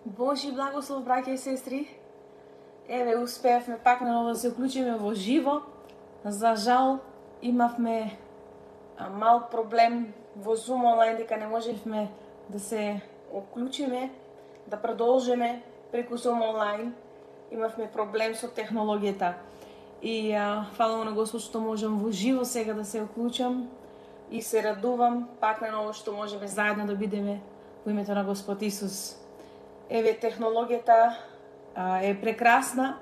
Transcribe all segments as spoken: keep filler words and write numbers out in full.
Божи благослов, браќа и сестри. Еве, успеавме пак на ново да се уклучиме во живо. За жал, имавме мал проблем во Zoom онлайн, дека не можевме да се уклучиме, да продолжиме преку Zoom онлайн. Имавме проблем со технологијата. И а, фала на Господ што можам во живо сега да се уклучам и се радувам пак на ново што можеме заедно да бидеме во името на Господ Исус. Еве, технологијата а, е прекрасна,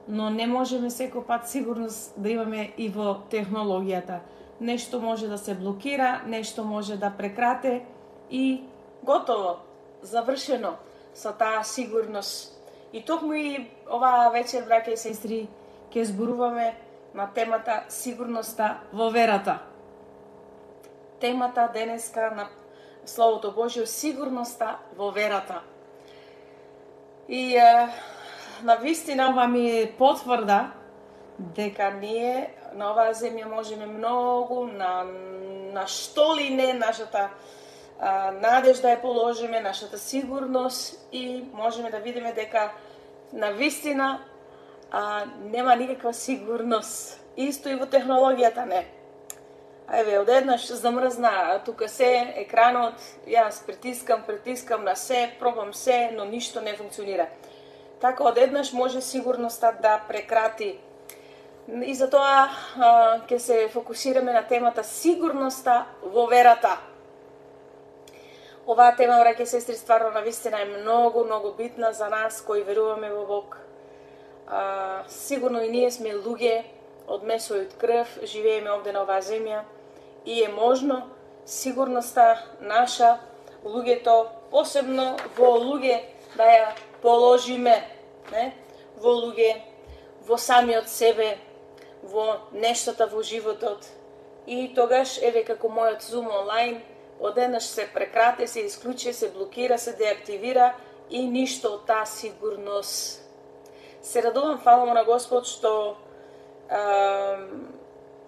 но не можеме секој пат сигурност да имаме и во технологијата. Нешто може да се блокира, нешто може да прекрате и готово, завршено со таа сигурност. И токму и оваа вечер, браќа и сестри, ќе зборуваме на темата сигурноста во верата. Темата денеска на Словото Божјо, сигурноста во верата. И е, на вистина ова ми е потврда дека ние на оваа земја можеме многу, на, на што ли не нашата а, надежда е положиме, нашата сигурност и можеме да видиме дека на вистина а, нема никаква сигурност. Исто и во технологијата не. Еве, одеднаш замрзна тука се, екранот, јас притискам, притискам на се, пробам се, но ништо не функционира. Така одеднаш може сигурноста да прекрати. И затоа ќе се фокусираме на темата сигурноста во верата. Оваа тема, браќа и сестри, стварно на вистина е многу, многу битна за нас кои веруваме во Бог. А, сигурно и ние сме луѓе од месо и од крв, живееме овде на оваа земја и е можно сигурноста наша, луѓето, посебно во луѓе, да ја положиме, не? Во луѓе, во самиот себе, во нештата во животот. И тогаш, еве како мојот Zoom онлайн, одеднаш се прекрате, се исклучи, се блокира, се деактивира и ништо од таа сигурност. Се радувам, фалам на Господ, што а,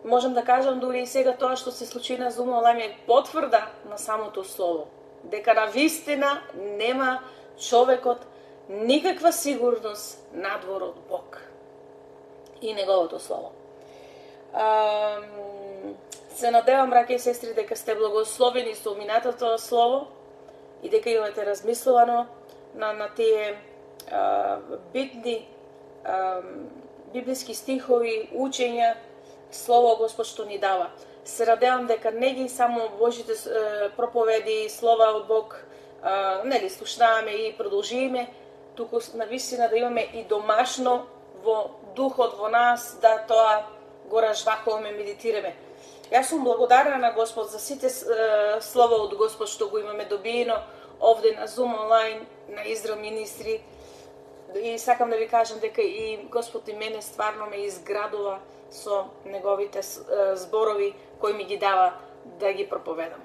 можам да кажам дури и сега тоа што се случи на Zoom онлайн е потврда на самото Слово. Дека на вистина нема човекот никаква сигурност надвор од Бог и Неговото Слово. А, се надевам, браќа и сестри, дека сте благословени со минатото Слово и дека имате размислувано на, на тие а, битни а, библиски стихови, учења, Слово Господ што ни дава. Се надевам дека не ги само Божите а, проповеди, слова од Бог, а, нели, слушнаваме и продолжиме, туку на вистина да имаме и домашно во духот во нас, да тоа го разжвакуваме, медитираме. Јас сум благодарна на Господ за сите е, слова од Господ што го имаме добиено овде на Zoom онлайн, на Израел Министри. И сакам да ви кажам дека и Господ и мене стварно ме изградува со неговите е, зборови кои ми ги дава да ги проповедам.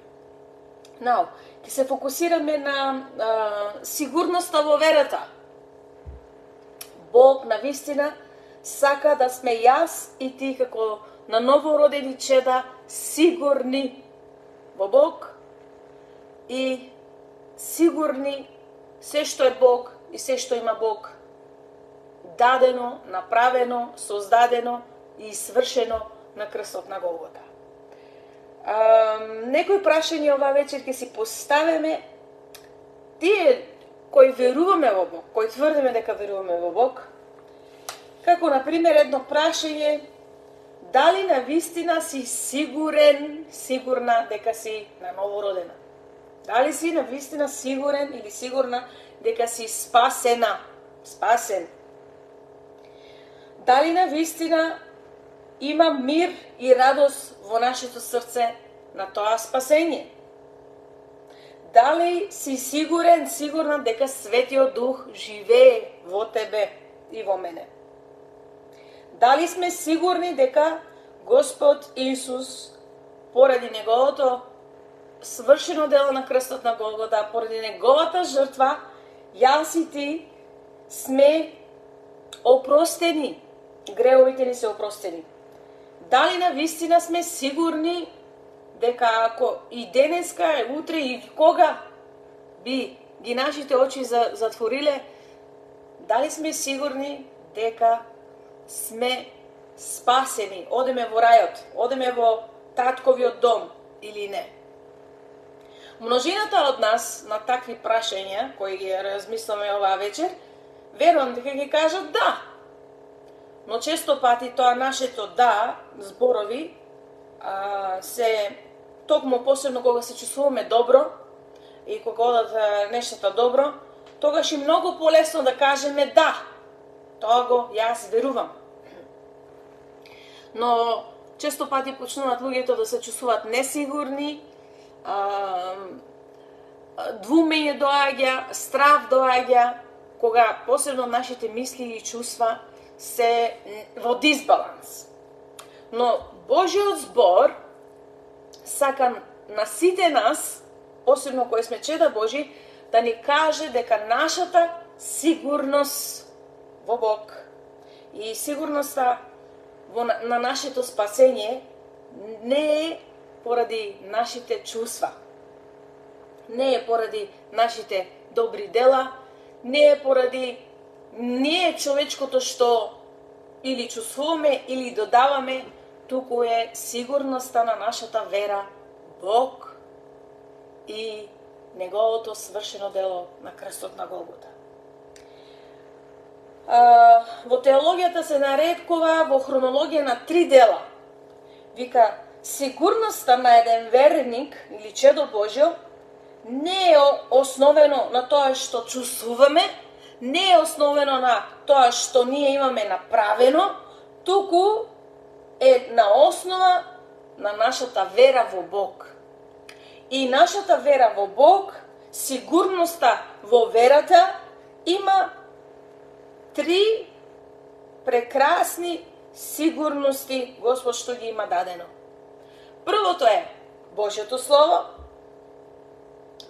Now, ќе се фокусираме на е, сигурноста во верата. Бог на вистина сака да сме јас и ти како на новородени чеда сигурни во Бог и сигурни се што е Бог и се што има Бог дадено, направено, создадено и свршено на крстот на Голгота. Некои прашања ова вечер ќе си поставиме. Тие кои веруваме во Бог, кои тврдиме дека веруваме во Бог, како например едно прашање: дали на вистина си сигурен, сигурна дека си на новородена? Дали си на вистина сигурен или сигурна дека си спасена, спасен? Дали на вистина има мир и радост во нашето срце на тоа спасење? Дали си сигурен, сигурна дека Светиот Дух живее во тебе и во мене? Дали сме сигурни дека Господ Исус, поради Неговото свршено дело на крстот на Голгота, поради Неговата жртва, јас и ти сме опростени, гревовите ни се опростени? Дали на вистина сме сигурни дека ако и денеска, утре и кога би ги нашите очи затвориле, дали сме сигурни дека сме спасени, одеме во рајот, одеме во татковиот дом или не? Множината од нас на такви прашања, кои ги размисламе оваа вечер, верувам дека ги кажат да. Но често пати тоа нашето да, зборови, а, се токму посебно кога се чувствуваме добро и кога одат нештата добро, тогаш и многу полесно да кажеме да. Тоа го јас верувам. Но често пати почнуваат луѓето да се чувствуваат несигурни, двумење доаѓа, страв доаѓа, кога посебно нашите мисли и чувства се во дисбаланс. Но Божиот збор сака на сите нас, посебно кои сме чеда Божи, да ни каже дека нашата сигурност во Бог и сигурноста во, на нашето спасение не е поради нашите чувства, не е поради нашите добри дела, не е поради ние човечкото што или чувствуваме или додаваме, туку е сигурноста на нашата вера Бог и неговото свршено дело на крстот на Голгота. А, во теологијата се наредкува во хронологија на три дела. Вика, сигурноста на еден верник или чедо Божјо не е основено на тоа што чувствуваме, не е основено на тоа што ние имаме направено, туку е на основа на нашата вера во Бог. И нашата вера во Бог, сигурноста во верата, има три прекрасни сигурности Господ што ги има дадено. Првото е Божјото Слово,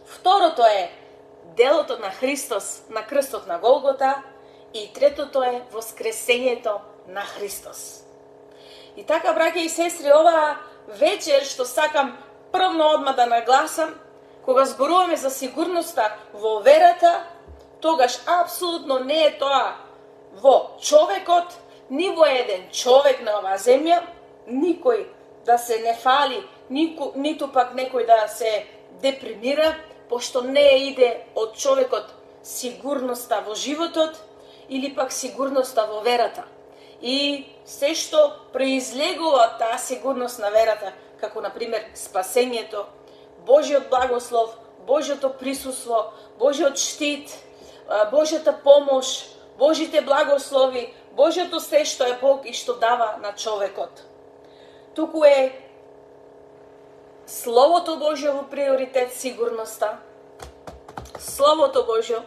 второто е делото на Христос на крстот на Голгота и третото е воскресењето на Христос. И така, браќа и сестри, оваа вечер што сакам првно одма да нагласам, кога зборуваме за сигурноста во верата, тогаш апсолутно не е тоа во човекот, ни во еден човек на оваа земја, никој да се не фали, нико, ниту пак некој да се депримира, пошто не иде од човекот сигурноста во животот или пак сигурноста во верата. И се што произлегува таа сигурност на верата, како например спасењето, Божиот благослов, Божиото присуство, Божиот штит, Божјата помош, Божите благослови, Божиото се што е Бог и што дава на човекот. Туку е Словото Божјо во приоритет сигурноста, Словото Божјо,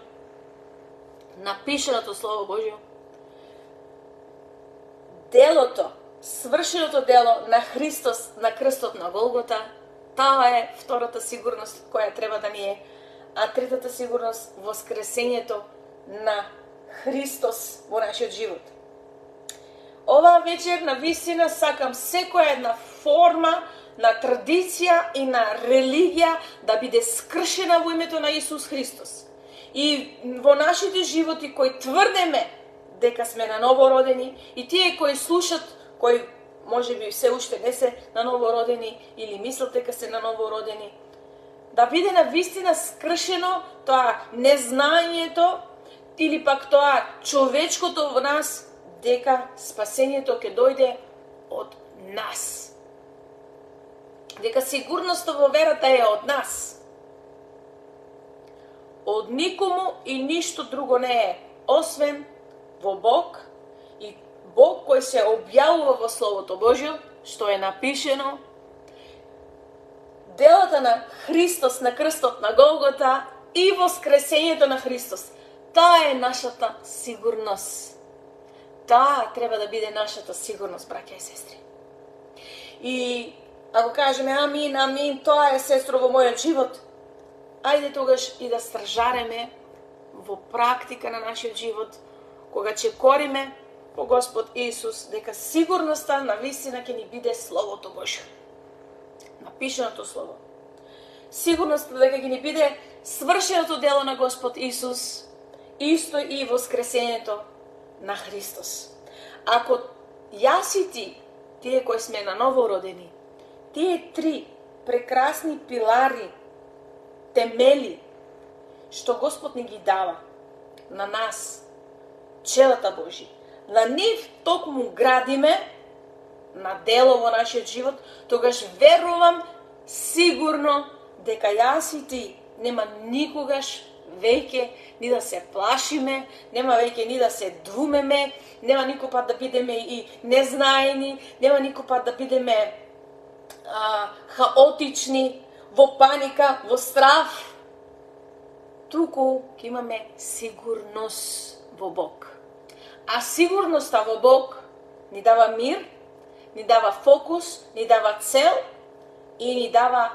напишеното Слово Божјо, делото, свршеното дело на Христос на крстот на Голгота, таа е втората сигурност која треба да ни е, а третата сигурност воскресењето на Христос во нашиот живот. Оваа вечер на вистина сакам секоја една форма на традиција и на религија да биде скршена во името на Исус Христос. И во нашите животи кои тврдеме дека сме на новородени и тие кои слушат, кои може би се уште не се на новородени или мислат дека се на новородени, да биде на вистина скршено тоа незнањето или пак тоа човечкото во нас, дека спасењето ќе дојде од нас. Дека сигурноста во верата е од нас. Од никому и ништо друго не е, освен во Бог и Бог кој се објавува во Словото Божјо, што е напишено, делата на Христос на крстот на Голгота и воскресењето на Христос. Таа е нашата сигурност. Таа треба да биде нашата сигурност, браќа и сестри. И ако кажеме амин, амин, тоа е, сестро, во мојот живот, ајде тогаш и да стражареме во практика на нашиот живот, кога ќе кориме по Господ Исус, дека сигурноста на вистина ќе ни биде Словото Божјо. Напишеното Слово. Сигурноста дека ќе ни биде свршеното дело на Господ Исус, исто и воскресението на Христос. Ако јас и ти, тие кои сме на ново родени, тие три прекрасни пилари, темели, што Господ ни ги дава на нас, челата Божи, на нив токму градиме на дело во нашиот живот, тогаш верувам сигурно дека јас и ти нема никогаш веќе ни да се плашиме, нема веќе ни да се двумеме, нема никој пат да бидеме и незнаени, нема никој пат да бидеме а, хаотични, во паника, во страв. Туку ќе имаме сигурност во Бог. А сигурноста во Бог ни дава мир, ни дава фокус, ни дава цел и ни дава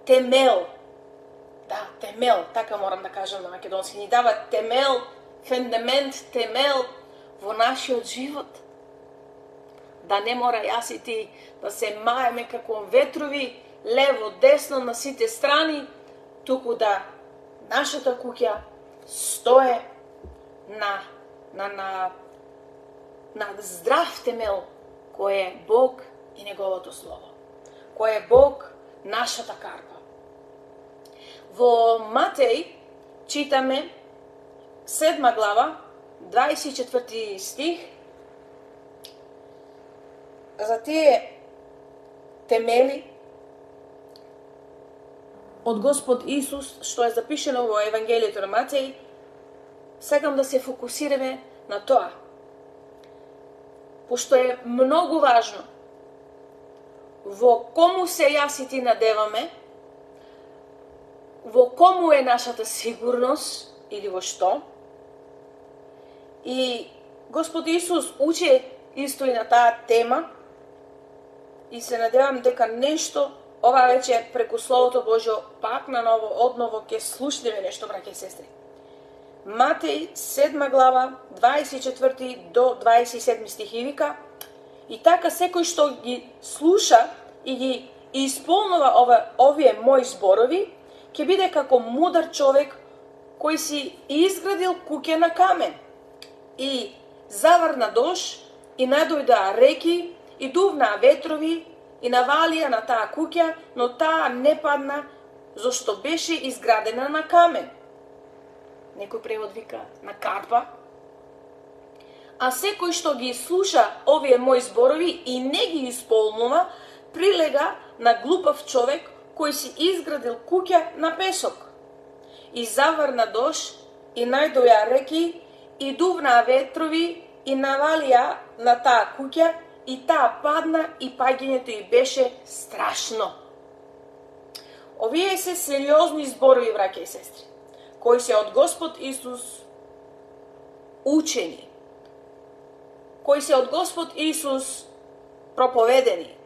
темел. Да, темел, така морам да кажам на македонски. Ни дава темел, фундамент, темел во нашиот живот. Да не мора јас и ти да се маеме како ветрови, лево, десно, на сите страни, туку да нашата куќа стое на, на, на, на здрав темел, кој е Бог и Неговото Слово. Кој е Бог, нашата карпа. Во Матеј читаме седма глава, дваесет и четврти стих, за тие темели од Господ Исус, што е запишено во Евангелието на Матеј. Сакам да се фокусираме на тоа, пошто е многу важно во кому се јас и ти надеваме, во кому е нашата сигурност или во што. И Господ Исус учи исто и на таа тема и се надевам дека нешто ова вече преку Словото Божјо пак на ново, одново ќе слушнеме нешто, браќа и сестри. Матеј седма глава, дваесет и четврти до дваесет и седми стихи вика: и така секој што ги слуша и ги исполнува ова, овие мои зборови, ќе биде како мудар човек кој си изградил куќа на камен и заврна дож и надојдоа реки и дувнаа ветрови и навалија на таа куќа, но таа не падна, зашто беше изградена на камен. Некој превод вика на карпа. А секој што ги слуша овие мои зборови и не ги исполнува, прилега на глупав човек кој си изградил куќа на песок. И заврна дож и најдоја реки и дувнаа ветрови и навалија на таа куќа и таа падна и паѓањето ѝ беше страшно. Овие се сериозни зборови, браќа и сестри, кои се од Господ Исус учени, кои се од Господ Исус проповедени.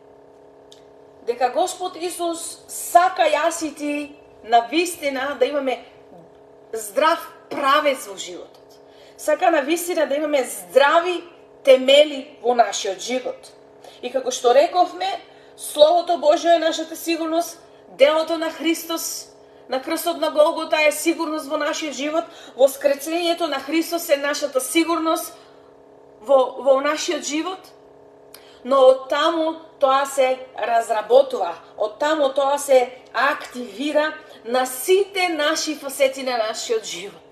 Дека Господ Исус сака јас и ти на вистина да имаме здрав правец во животот. Сака на вистина да имаме здрави темели во нашиот живот. И како што рековме, Словото Божјо е нашата сигурност, делото на Христос на крстот на Голгота е сигурност во нашиот живот, воскресението на Христос е нашата сигурност во, во нашиот живот. Но од таму тоа се разработува, од таму тоа се активира на сите наши фасети на нашиот живот.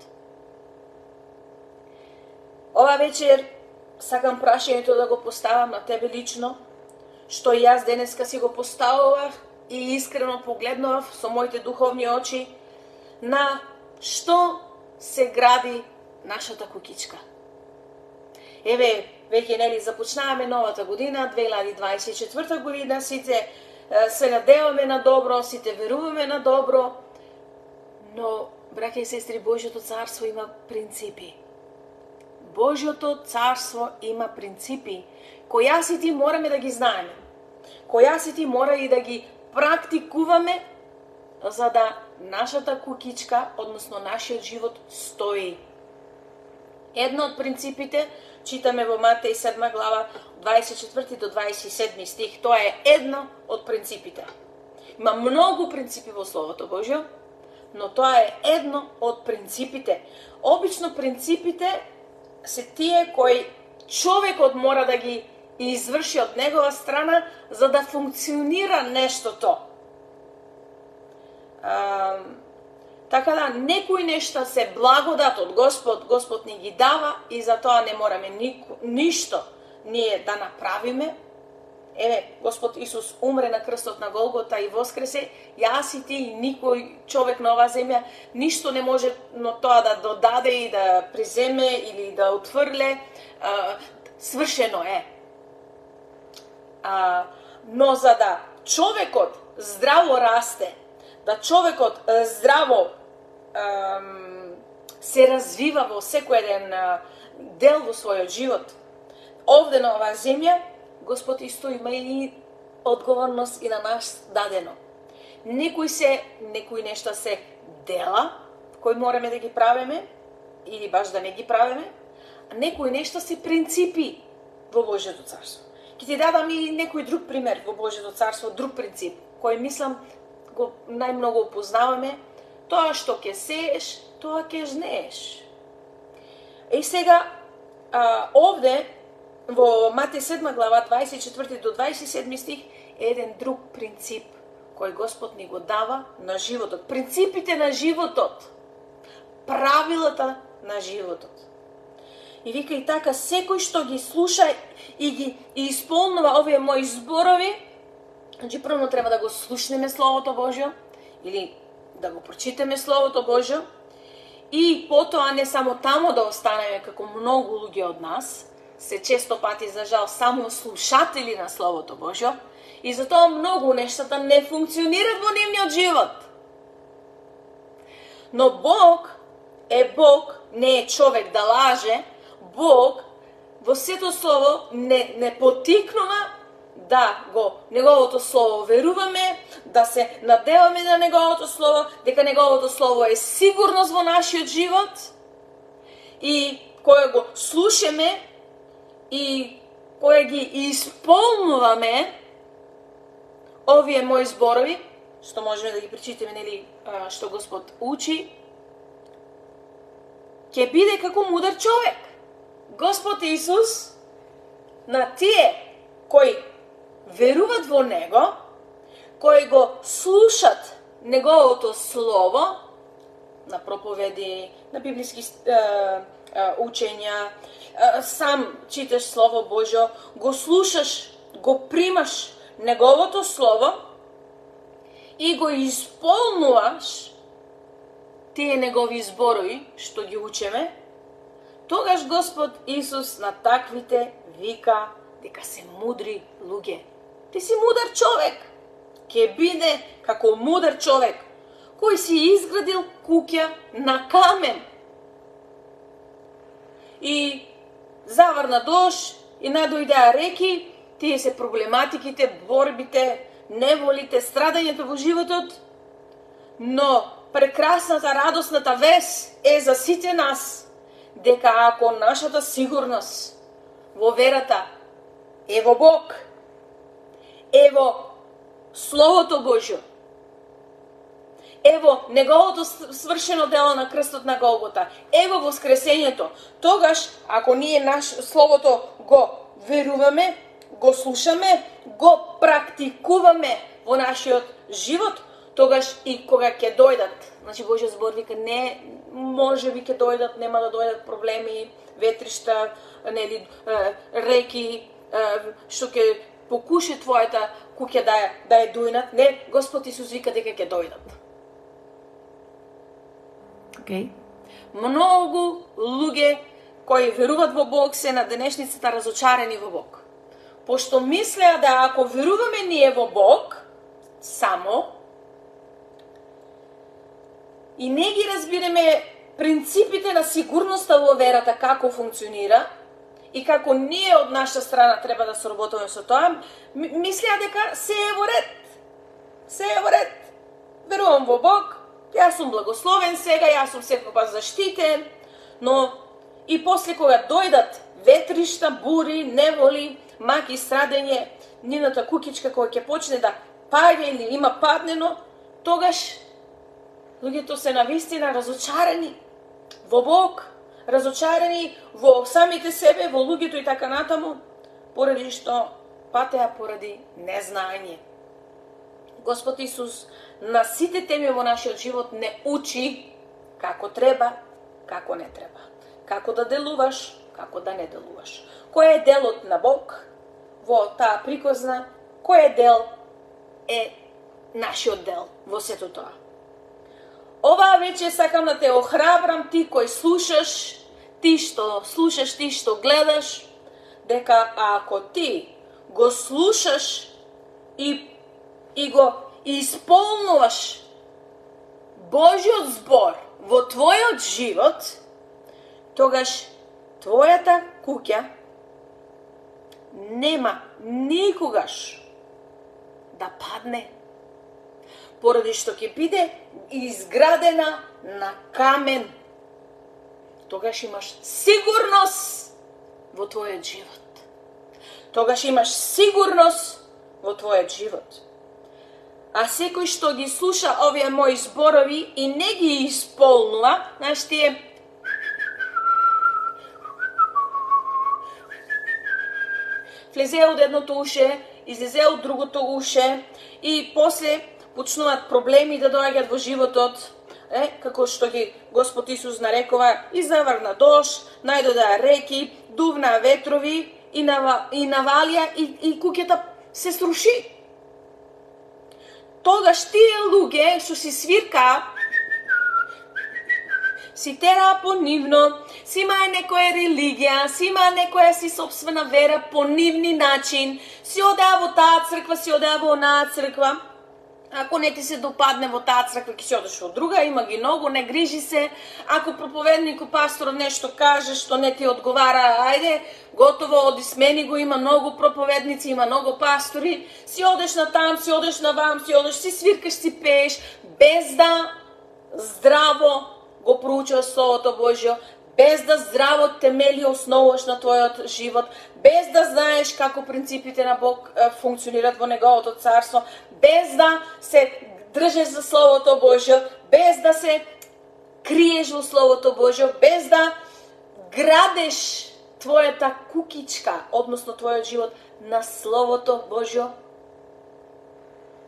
Ова вечер сакам прашањето да го поставам на тебе лично, што и јас денеска си го поставував и искрено погледнував со моите духовни очи, на што се гради нашата куќичка. Еве, веќе нели започнаваме новата година, две илјади дваесет и четврта година, сите се надеваме на добро, сите веруваме на добро, но, браќа и сестри, Божјото царство има принципи. Божјото царство има принципи, кои јас и ти мораме да ги знаеме, кои јас и ти мора и да ги практикуваме, за да нашата куќичка, односно нашиот живот, стои. Едно од принципите, читаме во Матеј седма глава, дваесет и четврти до дваесет и седми стих, тоа е едно од принципите. Има многу принципи во Словото Божјо, но тоа е едно од принципите. Обично принципите се тие кои човекот мора да ги изврши од негова страна за да функционира нештото. А, така да, некои нешта се благодат од Господ, Господ ни ги дава и за тоа не мораме нико, ништо ние да направиме. Еве, Господ Исус умре на крстот на Голгота и воскресе, јас и ти и никој човек на оваа земја ништо не може но тоа да додаде и да приземе или да отврле, а, свршено е. А, но за да човекот здраво расте, да човекот здраво ам, се развива во секој еден дел во својот живот, овде на оваа земја, Господ исто има и одговорност и на нас дадено. Некои се, некои нешта се дела, кои мораме да ги правиме, или баш да не ги правиме, а некои нешта се принципи во Божјето царство. Ќе ти дадам и некој друг пример во Божјето царство, друг принцип, кој мислам го најмногу опознаваме, тоа што ќе сееш, тоа ќе жнееш. И сега, а, овде, во Матеј седма глава, дваесет и четврти до дваесет и седми стих, е еден друг принцип кој Господ ни го дава на животот. Принципите на животот. Правилата на животот. И вика и така, секој што ги слуша и ги и исполнува овие мои зборови, значи прво треба да го слушнеме Словото Божјо, или да го прочитаме Словото Божјо, и потоа не само тамо да останеме како многу луѓе од нас, се често пати, за жал, само слушатели на Словото Божјо, и затоа многу нештата не функционираат во нивниот живот. Но Бог е Бог, не е човек да лаже. Бог во сето Слово не, не потикнува да го Неговото Слово веруваме, да се надеваме на Неговото Слово, дека Неговото Слово е сигурност во нашиот живот, и кога го слушаме и кога ги исполнуваме овие мои зборови, што можеме да ги прочитаме, нели, што Господ учи, ќе биде како мудар човек. Господ Исус на тие кои веруват во Него, кои го слушат Неговото Слово, на проповеди, на библиски е, е, учења, е, сам читаш Слово Божјо, го слушаш, го примаш Неговото Слово и го исполнуваш тие Негови зборови, што ги учеме, тогаш Господ Исус на таквите вика дека се мудри луѓе. Ти си мудар човек. Ке биде како мудар човек кој си изградил куќа на камен. И заврна дожд и надојдеа реки, тие се проблематиките, борбите, неволите, страдањето во животот, но прекрасната, радосната вест е за сите нас, дека ако нашата сигурност во верата е во Бог, е во Словото Божјо, е во Неговото свршено дело на крстот на Голгота, е во воскресењето, тогаш, ако ние наш Словото го веруваме, го слушаме, го практикуваме во нашиот живот, тогаш и кога ќе дојдат, значи Божјиот збор вика, не, може би ќе дојдат, нема да дојдат проблеми, ветришта, нели, реки, што ќе покуши твојата куќа да ја, да ја дујнат. Не, Господ Исус вика дека ќе дојдат. Okay. Многу луѓе кои веруват во Бог се на денешницата разочарени во Бог. Пошто мислеа да ако веруваме ние во Бог, само, и не ги разбираме принципите на сигурноста во верата како функционира, и како ние од наша страна треба да соработуваме со тоа, мислеа дека се е во ред. Се е во ред. Верувам во Бог, јас сум благословен сега, јас сум секогаш заштитен, но и после кога дојдат ветришта, бури, неволи, маки, страдење, нивната кукичка која ќе почне да паѓа или има паднено, тогаш Луѓето се навистина разочарани во Бог, разочарани во самите себе, во луѓето и така натаму, поради што патеа поради незнање. Господ Исус на сите теми во нашиот живот не учи како треба, како не треба. Како да делуваш, како да не делуваш. Кој е делот на Бог во таа приказна, кој е дел е нашиот дел во сето тоа. Оваа вече сакам да те охрабрам, ти кој слушаш, ти што слушаш, ти што гледаш, дека ако ти го слушаш и, и го исполнуваш Божиот збор во твојот живот, тогаш твојата куќа нема никогаш да падне, поради што ќе биде изградена на камен. Тогаш имаш сигурност во твојот живот. Тогаш имаш сигурност во твојот живот. А секој што ги слуша овие мои зборови и не ги исполнува, знаеш, тие влезе од едното уше, излезе од другото уше и после почнуваат проблеми да доаѓаат во животот, е, како што ги Господ Исус нарекува, и заврна дожд, најдода реки, дувна ветрови и, нава, и навалија и, и куќата се сруши. Тогаш тие луѓе што си свиркаа, си тераа по нивно, си имаа некоја религија, си имаа некоја си собствена вера по нивни начин, си одеа во таа црква, си одеа во онаа црква. Ако не ти се допадне во таа црква, ќе си одеш во друга, има ги многу, не грижи се. Ако проповедникот, пасторот нешто каже што не ти одговара, ајде, готово, оди смени го, има многу проповедници, има многу пастори. Си одеш на там, си одеш на вам, си одеш, си свиркаш, си пееш, без да здраво го проучуваш Словото Божјо, без да здраво темели основуваш на твојот живот, без да знаеш како принципите на Бог функционират во Неговото царство, без да се држеш за Словото Божјо, без да се криеш во Словото Божјо, без да градеш твојата кукичка, односно твојот живот на Словото Божјо,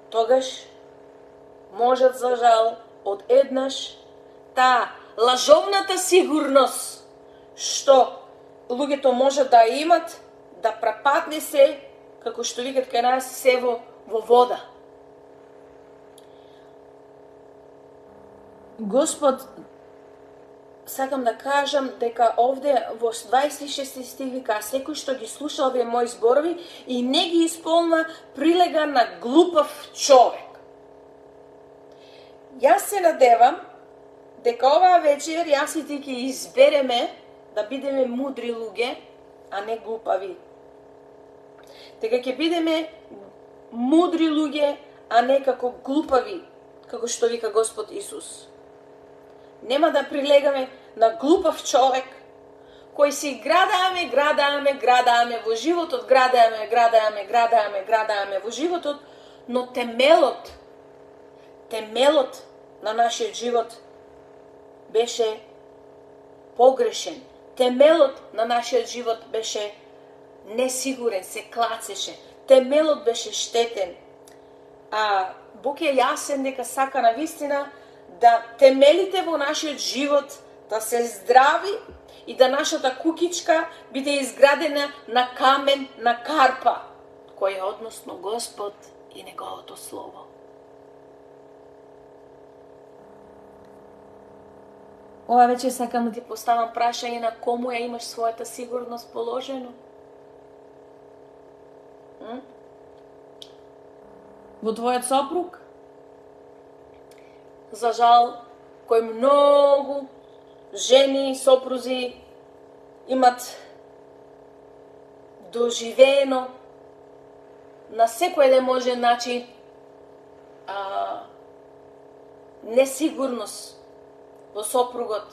тогаш можат за жал од еднаш таа лажовната сигурност што луѓето можат да имат, да препадне се, како што викат кај нас, се во, во вода. Господ, сакам да кажам дека овде во дваесет и шести стих вика: секој што ги слуша овие мои зборови и не ги исполнува, прилега на глупав човек. Јас се надевам дека оваа вечер јас и ти ќе избереме да бидеме мудри луѓе, а не глупави. Дека ќе бидеме мудри луѓе, а не како глупави, како што вика Господ Исус. Нема да прилегаме на глупав човек, кој си градаме, градаме, градаме во животот, градаме, градаме, градаме, градаме во животот, но темелот, темелот на нашиот живот беше погрешен. Темелот на нашиот живот беше несигурен, се клацеше. Темелот беше штетен. А Бог е јасен дека сака на вистина да темелите во нашиот живот да се здрави и да нашата кукичка биде изградена на камен, на карпа, кој е односно Господ и Неговото Слово. Ова вече сакам да ти поставам прашање на кому ја имаш својата сигурност положено. М? Во твојот сопруг? За жал, кој многу жени и сопрузи имат доживено на секој еден можен начин а, несигурност во сопругот.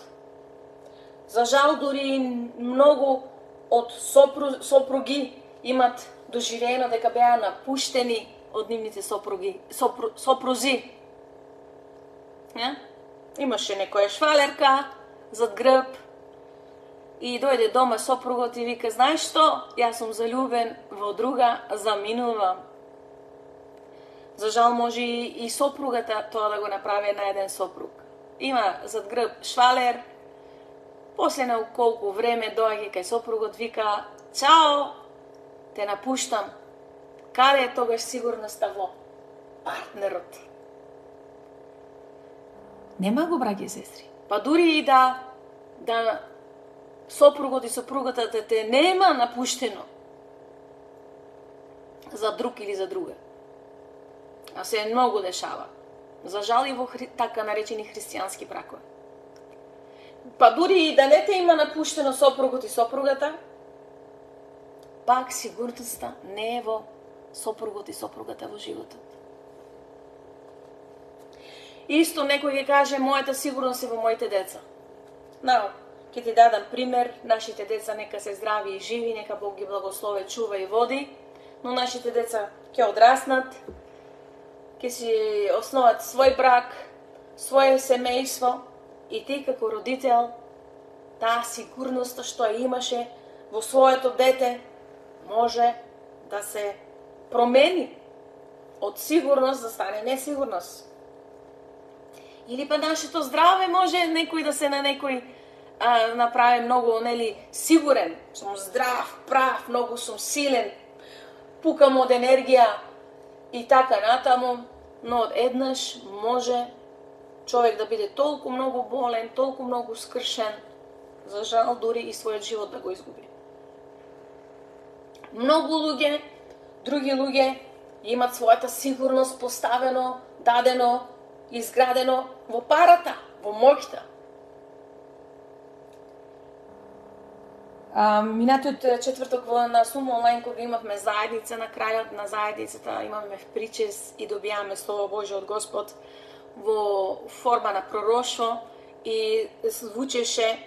За жал, дури многу од сопру, сопруги имат доживено дека беа напуштени од нивните сопруги, сопру, сопрузи. Ja? имаше некоја швалерка зад грб и дојде дома сопругот и вика, знаеш што, јас сум заљубен во друга, заминувам. За жал може и сопругата тоа да го направи на еден сопруг. Има зад грб швалер, после на колку време доаѓа кај сопругот, вика, чао, те напуштам. Каде е тогаш сигурноста во партнерот? Нема го, браќи и сестри. Па дури и да, да сопругот и сопругата те, те нема напуштено за друг или за друга. А се многу дешава. За жал и во хри... така наречени христијански бракови. Па дури и да не те има напуштено сопругот и сопругата, пак сигурноста не е во сопругот и сопругата во животот. Исто некој ќе каже, мојата сигурност е во моите деца. Нао, ќе ти дадам пример, нашите деца нека се здрави и живи, нека Бог ги благослови, чува и води, но нашите деца ќе одраснат, ќе си основат свој брак, своје семејство и ти како родител, таа сигурност што ја имаше во своето дете може да се промени од сигурност да стане несигурност. Или па нашето здраве може некој да се на некој а, направи многу, нели, сигурен. Сум здрав, прав, многу сум силен, пукам од енергија и така натаму, но од еднаш може човек да биде толку многу болен, толку многу скршен, за жал дури и својот живот да го изгуби. Многу луѓе, други луѓе имат својата сигурност поставено, дадено, изградено во парата, во моќта. А, минатиот четврток во на Сум онлайн кога имавме заедница, на крајот на заедницата имаме причес и добијаме Слово Божје од Господ во форма на пророштво и звучеше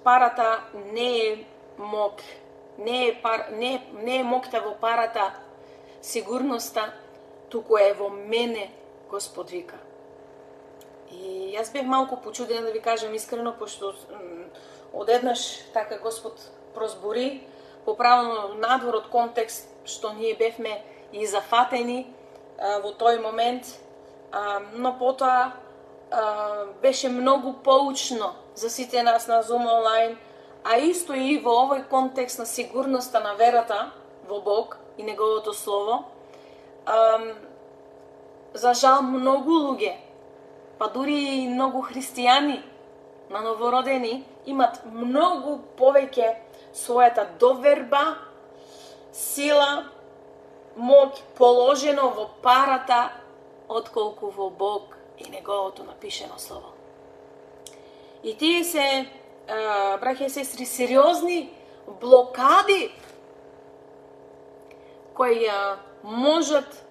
парата не е мок, не е, пар, не, не е моќта во парата, сигурноста, туку е во мене, Господ вика. И јас бев малку почудена, да ви кажам искрено, пошто одеднаш така Господ прозбори, поправено надвор од контекст, што ние бевме и зафатени а, во тој момент, а, но потоа а, беше многу поучно за сите нас на Zoom онлайн, а исто и во овој контекст на сигурноста на верата во Бог и Неговото Слово. А, за жал многу луѓе, па дури и многу христијани на новородени имат многу повеќе својата доверба, сила, моќ положено во парата, отколку во Бог и Неговото напишено Слово. И тие се, браќа и сестри, сериозни блокади кои можат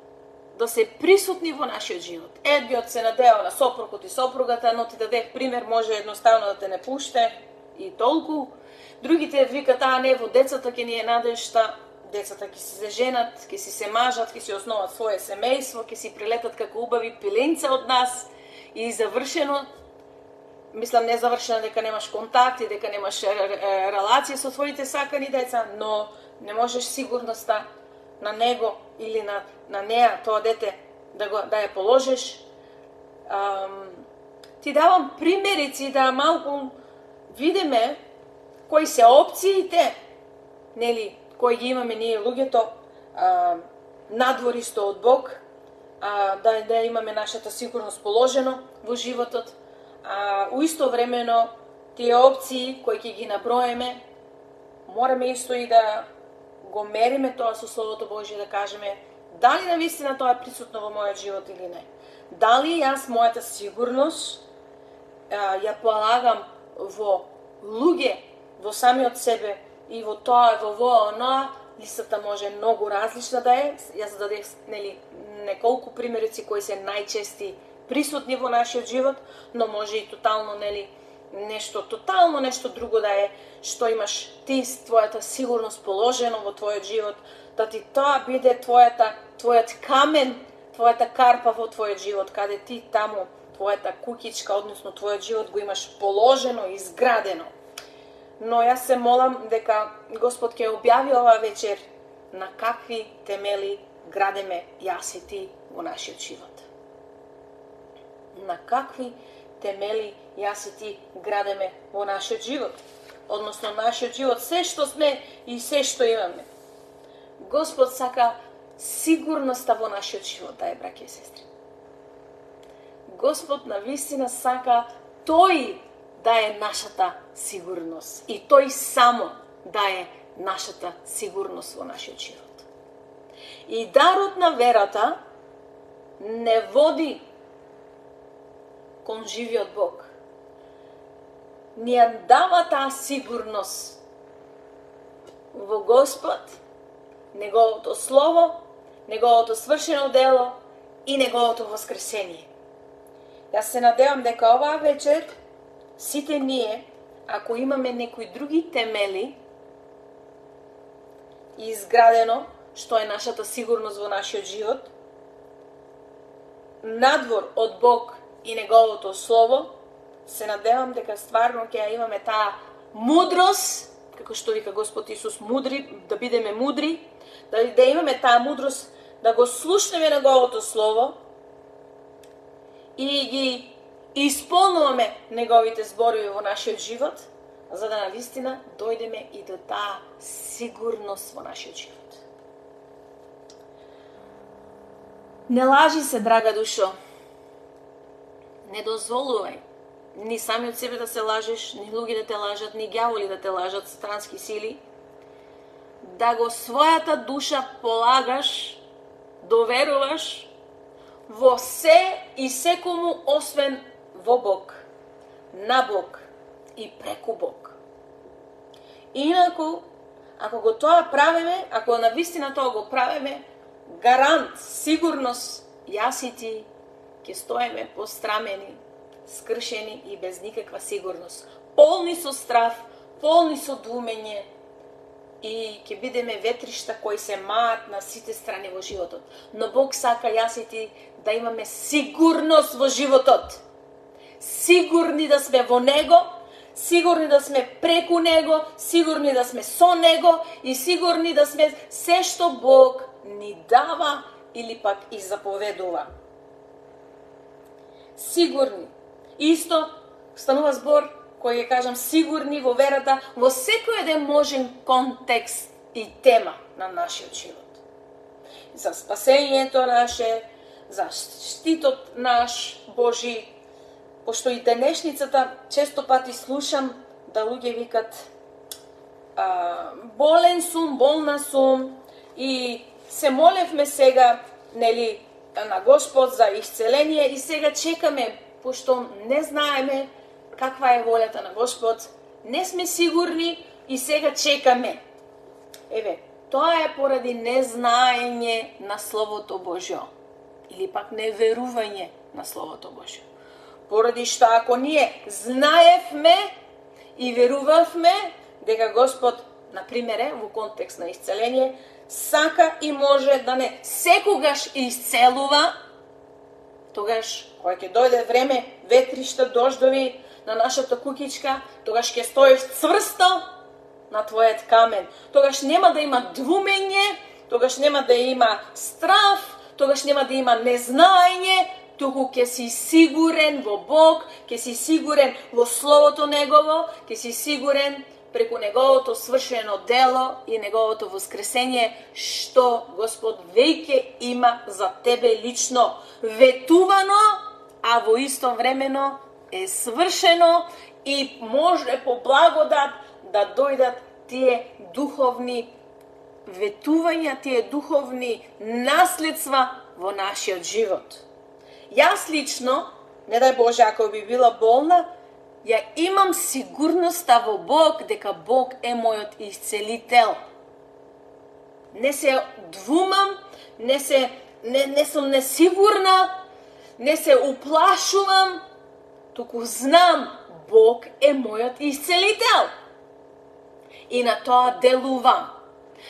да се присутни во нашиот живот. Едниот се надева на сопругот и сопругата, но ти дадех пример, може едноставно да те не пуште и толку. Другите викат, а не, во децата ќе ни е надежта, децата ќе си се женат, ќе си се мажат, ќе си основат своје семејство, ќе си прилетат како убави пиленца од нас и завршено. Мислам, не завршено дека немаш контакт и дека немаш релација со твоите сакани деца, но не можеш сигурноста на него или на, на неа, тоа дете, да, го, да ја положиш. Ам, ти давам примерици да малку видиме кои се опциите, нели, кои ги имаме ние луѓето, а, надвористо од Бог, а, да, да имаме нашата сигурност положено во животот, а уисто времено тие опции кои ќе ги наброеме, мораме исто и да го мериме тоа со Словото Божие, да кажеме дали навистина тоа е присутно во мојот живот или не. Дали јас мојата сигурност а, ја полагам во луѓе, во самиот себе и во тоа, во во оноа, листата може многу различна да е. Јас дадех, нели, неколку примерици кои се најчести присутни во нашиот живот, но може и тотално, нели, нешто, тотално нешто друго да е, што имаш ти твојата сигурност положено во твојот живот, да ти тоа биде твојата, твојот камен, твојата карпа во твојот живот, каде ти таму твојата куќичка, односно твојот живот го имаш положено, изградено. Но јас се молам дека Господ ќе објави ова вечер на какви темели градеме јас и ти во нашиот живот. На какви темели јас и ти градеме во нашиот живот. Односно нашиот живот, се што сме и се што имаме. Господ сака сигурноста во нашиот живот, да е, браќи и сестри. Господ навистина сака тој да е нашата сигурност и тој само да е нашата сигурност во нашиот живот. И дарот на верата не води кон живиот Бог. Ни ја дава таа сигурност во Господ, Неговото Слово, Неговото свршено дело и Неговото воскресение. Јас се надевам дека оваа вечер сите ние, ако имаме некои други темели изградено, што е нашата сигурност во нашиот живот, надвор од Бог и Неговото Слово, се надевам дека стварно ќе ја имаме таа мудрост, како што вика Господ Исус, мудри, да бидеме мудри, да, да имаме таа мудрост, да го слушнеме Неговото Слово и ги исполнуваме Неговите зборови во нашиот живот, за да навистина дојдеме и до таа сигурност во нашиот живот. Не лажи се, драга душо. Не дозволувај ни сами од себе да се лажеш, ни луѓе да те лажат, ни ѓаволи да те лажат, странски сили, да го својата душа полагаш, доверуваш во се и секому освен во Бог, на Бог и преку Бог. Инаку, ако го тоа правиме, ако навистина тоа го правиме, гарант, сигурност, јас и ти ќе стоеме пострамени, скршени и без никаква сигурност. Полни со страф, полни со двумење и ќе бидеме ветришта кои се маат на сите страни во животот. Но Бог сака јас и ти да имаме сигурност во животот. Сигурни да сме во Него, сигурни да сме преку Него, сигурни да сме со Него и сигурни да сме се што Бог ни дава или пак и заповедува. Сигурни. Исто станува збор кој ќе кажам сигурни во верата во секој еден можен контекст и тема на нашиот живот. За спасењето наше, за штитот наш Божи, пошто и денешницата често пати слушам да луѓе викат а, болен сум, болна сум и се молевме сега, нели, на Господ за исцеление и сега чекаме, пошто не знаеме каква е волјата на Господ, не сме сигурни и сега чекаме. Еве, тоа е поради незнаење на Словото Божјо или пак неверување на Словото Божјо. Поради што ако ние знаевме и верувавме дека Господ, например, во контекст на исцеление, сака и може да не секогаш исцелува, тогаш, кога ќе дојде време, ветришта, дождови на нашата куќичка, тогаш ќе стоиш цврсто на твојот камен. Тогаш нема да има двумење, тогаш нема да има страф, тогаш нема да има незнаење, туку ќе си сигурен во Бог, ќе си сигурен во Словото Негово, ќе си сигурен преку Неговото свршено дело и Неговото воскресение, што Господ веќе има за тебе лично ветувано, а во исто времено е свршено и може по благодат да дојдат тие духовни ветувања, тие духовни наследства во нашиот живот. Јас лично, не дај Боже, ако би била болна, ја имам сигурноста во Бог дека Бог е мојот исцелител. Не се двумам, не се не, не сум несигурна, не се уплашувам, туку знам Бог е мојот исцелител. И на тоа делувам.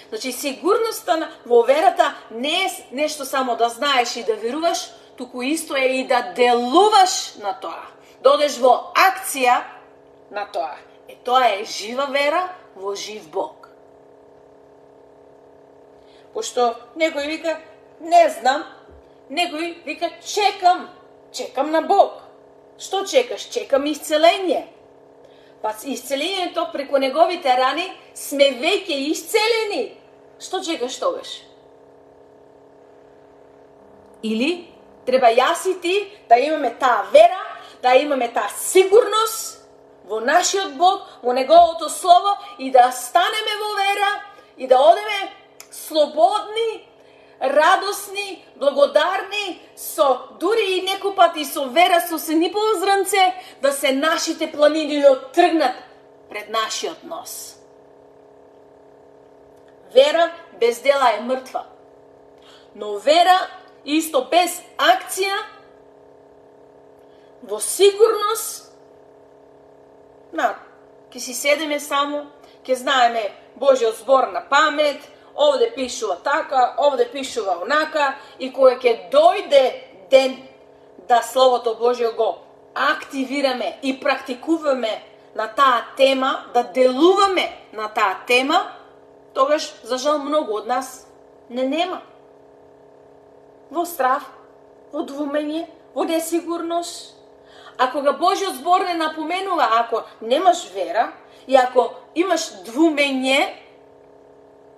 Значи, сигурноста во верата не е нешто само да знаеш и да веруваш, туку исто е и да делуваш на тоа. Да одеш во акција на тоа. Е, тоа е жива вера во жив Бог. Пошто некој вика, не знам, некој вика, чекам, чекам на Бог. Што чекаш? Чекам исцеление. Па исцелението преку неговите рани сме веќе исцелени. Што чекаш тогаш? Или треба јас и ти да имаме таа вера, да имаме таа сигурност во нашиот Бог, во неговото слово и да станеме во вера и да одеме слободни, радосни, благодарни, со дури и некој пати со вера, со сенипово зрнце, да се нашите планини да оттргнат пред нашиот нос. Вера без дела е мртва. Но вера исто без акција, во сигурност, на, ке си седеме само, ке знаеме Божиот збор на памет, овде пишува така, овде пишува онака, и кога ќе дојде ден да Словото Божие го активираме и практикуваме на таа тема, да делуваме на таа тема, тогаш, за жал, многу од нас не нема. Во страв, во двумење, во несигурност. А кога Божиот збор не напоменува, ако немаш вера и ако имаш двумење,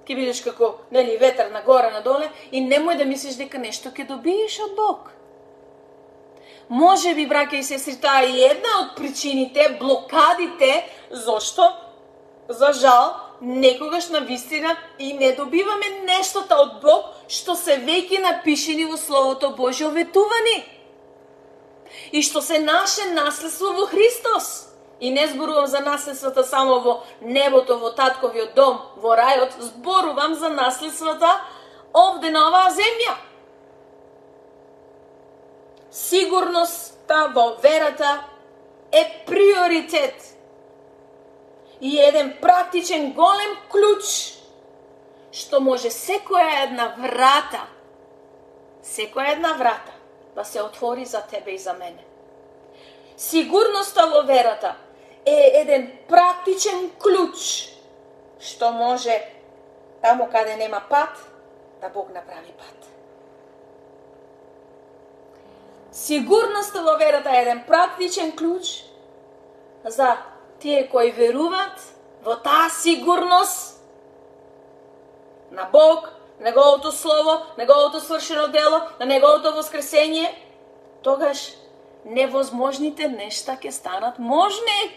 ќе бидеш како, нели, ветер нагоре надоле и немој да мислиш дека нешто ќе добиеш од Бог. Може би, браќа и сестри, таа е една од причините, блокадите, зошто, за жал, некогаш на вистина и не добиваме нештото од Бог што се веќе напишени во Словото Божие оветувани. И што се наше наследство во Христос. И не зборувам за наследствата само во небото, во татковиот дом, во рајот, зборувам за наследствата овде на оваа земја. Сигурноста во верата е приоритет. И еден практичен голем клуч, што може секоја една врата, секоја една врата да се отвори за тебе и за мене. Сигурноста во верата е еден практичен клуч, што може таму каде нема пат, да Бог направи пат. Сигурноста во верата е еден практичен клуч за тие кои веруваат во таа сигурност на Бог, неговото слово, неговото свршено дело, на неговото воскресение, тогаш невозможните нешта ќе станат можни.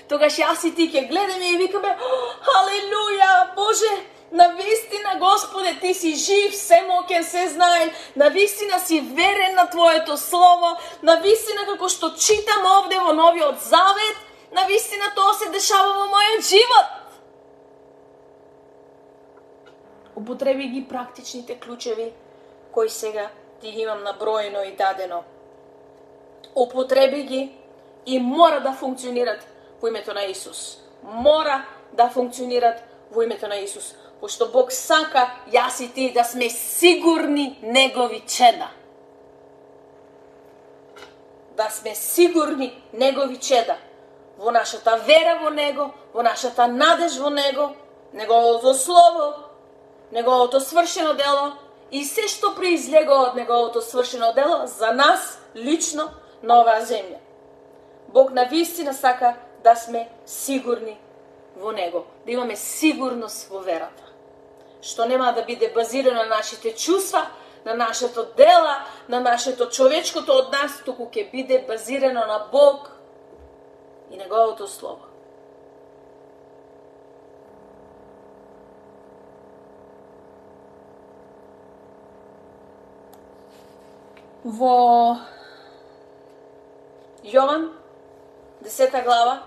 Тогаш јас и ти ќе гледаме и викаме: халелуја, Боже, навистина, Господе, ти си жив, семоќен, сезнаен, навистина си верен на Твоето слово, навистина како што читам овде во Новиот Завет, навистина тоа се дешава во мојот живот. Употреби ги практичните клучеви кои сега ти ги имам наброено и дадено. Употреби ги и мора да функционират во името на Исус. Мора да функционират во името на Исус. Пошто Бог сака јас и ти да сме сигурни Негови чеда. Да сме сигурни Негови чеда. Во нашата вера во Него, во нашата надеж во Него, Неговото Слово, Неговото свршено дело и се што произлега од Неговото свршено дело за нас лично на оваа земја. Бог навистина сака да сме сигурни во Него, да имаме сигурност во верата, што нема да биде базирано на нашите чувства, на нашето дела, на нашето човечкото од нас, туку ќе биде базирано на Бог и Неговото Слово. Во Јован, десета глава,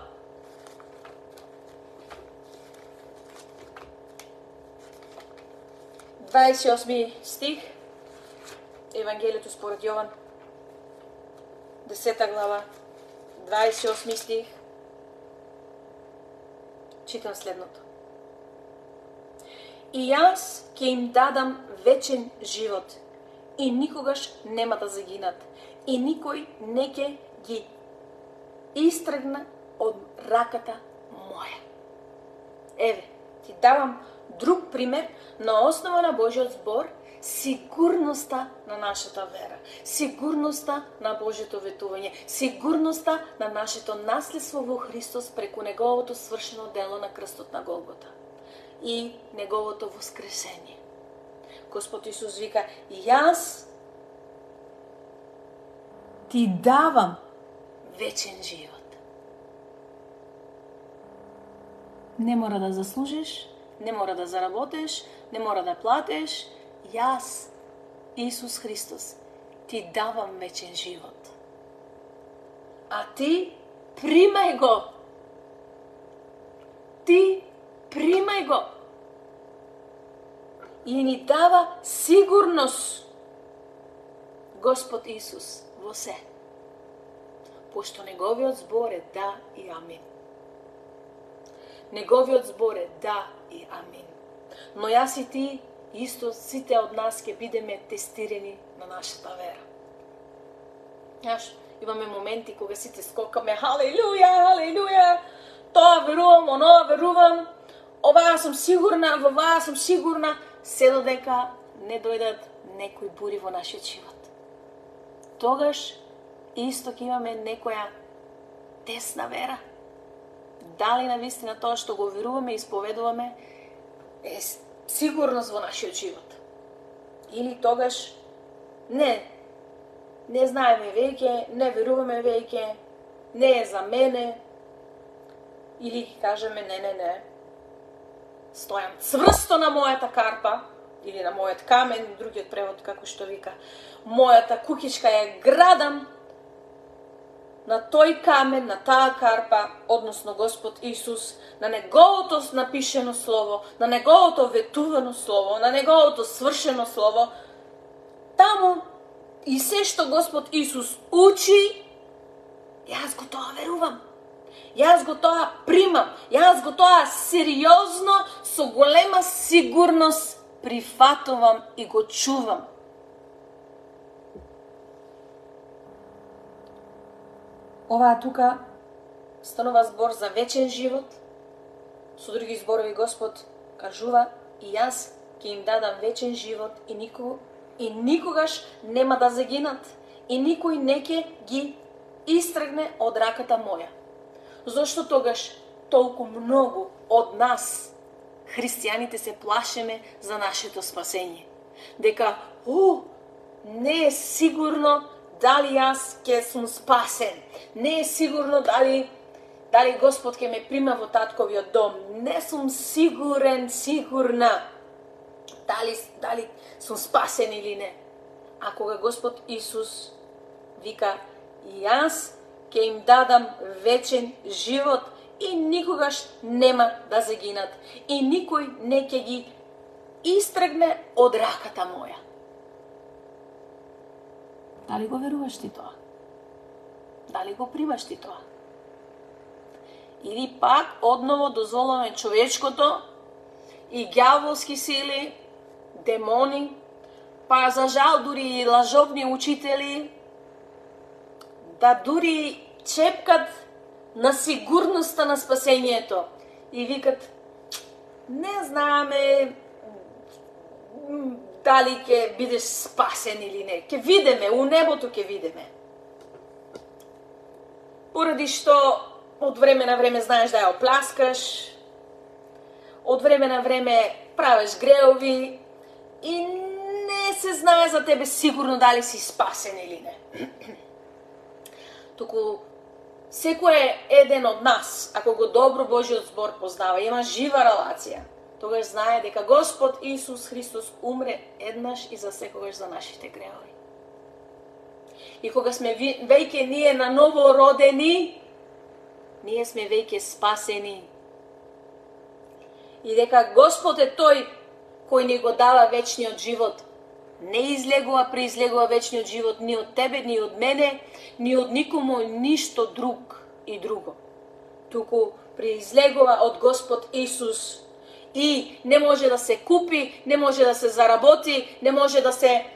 дваесет и осми стих, Евангелието според Јован, десета глава, дваесет и осми стих, читам следното. И јас ќе им дадам вечен живот, и никогаш нема да загинат. И никој не ќе ги истргне од раката моја. Еве, ти давам друг пример на основа на Божиот збор, сигурноста на нашата вера, сигурноста на Божето ветување, сигурноста на нашето наследство во Христос преку Неговото свршено дело на крстот на Голгота и Неговото воскресение. Господ Исус вика, јас ти давам вечен живот. Не мора да заслужиш, не мора да заработиш, не мора да платиш. Јас, Исус Христос, ти давам вечен живот. А ти примај го. Ти примај го. И ни дава сигурност Господ Исус во се. Пошто Неговиот збор е да и амин. Неговиот збор е да и амин. Но јас и ти, исто сите од нас ќе бидеме тестирани на нашата вера. Знаеш, имаме моменти кога сите скокаме, халелуја, халелуја, тоа верувам, оноа верувам, оваа сум сигурна, во оваа сум сигурна, се додека не дојдат некои бури во нашиот живот. Тогаш исто ќе имаме некоја тесна вера. Дали навистина тоа што го веруваме и исповедуваме е сигурност во нашиот живот. Или тогаш не, не знаеме веќе, не веруваме веќе, не е за мене, или ќе кажеме не, не, не, стојам цврсто на мојата карпа, или на мојот камен, другиот превод како што вика, мојата куќичка ја градам на тој камен, на таа карпа, односно Господ Исус, на Неговото напишено слово, на Неговото ветувано слово, на Неговото свршено слово, таму и се што Господ Исус учи, јас го тоа верувам. Јас го тоа примам. Јас го тоа сериозно, со голема сигурност прифатувам и го чувам. Оваа тука станува збор за вечен живот. Со други зборови Господ кажува, и јас ќе им дадам вечен живот и никого и никогаш нема да загинат и никој не ќе ги истргне од раката моја. Зошто тогаш толку многу од нас, христијаните, се плашеме за нашето спасение? Дека, о, не е сигурно дали јас ќе сум спасен. Не е сигурно дали дали Господ ќе ме прима во татковиот дом. Не сум сигурен, сигурна дали дали сум спасен или не. А кога Господ Исус вика, јас ќе им дадам вечен живот и никогаш нема да загинат и никој не ќе ги истргне од раката моја. Дали го веруваш ти тоа? Дали го примаш ти тоа? Или пак одново дозволуваме човечкото и ѓаволски сили, демони, па за жал дури и лажовни учители, да дури чепкат на сигурноста на спасението и викат, не знаеме дали ќе бидеш спасен или не. Ќе видиме, у небото ќе видиме. Поради што од време на време знаеш да ја опласкаш, од време на време правиш греови и не се знае за тебе сигурно дали си спасен или не. Туку секој еден од нас, ако го добро Божиот збор познава, има жива релација, тогаш знае дека Господ Исус Христос умре еднаш и за секогаш за нашите греови. И кога сме веќе ние на ново родени, ние сме веќе спасени. И дека Господ е тој кој ни го дава вечниот живот. Не излегува, преизлегува вечниот живот ни од тебе, ни од мене, ни од никому, ништо друг и друго. Туку преизлегува од Господ Исус. И не може да се купи, не може да се заработи, не може да се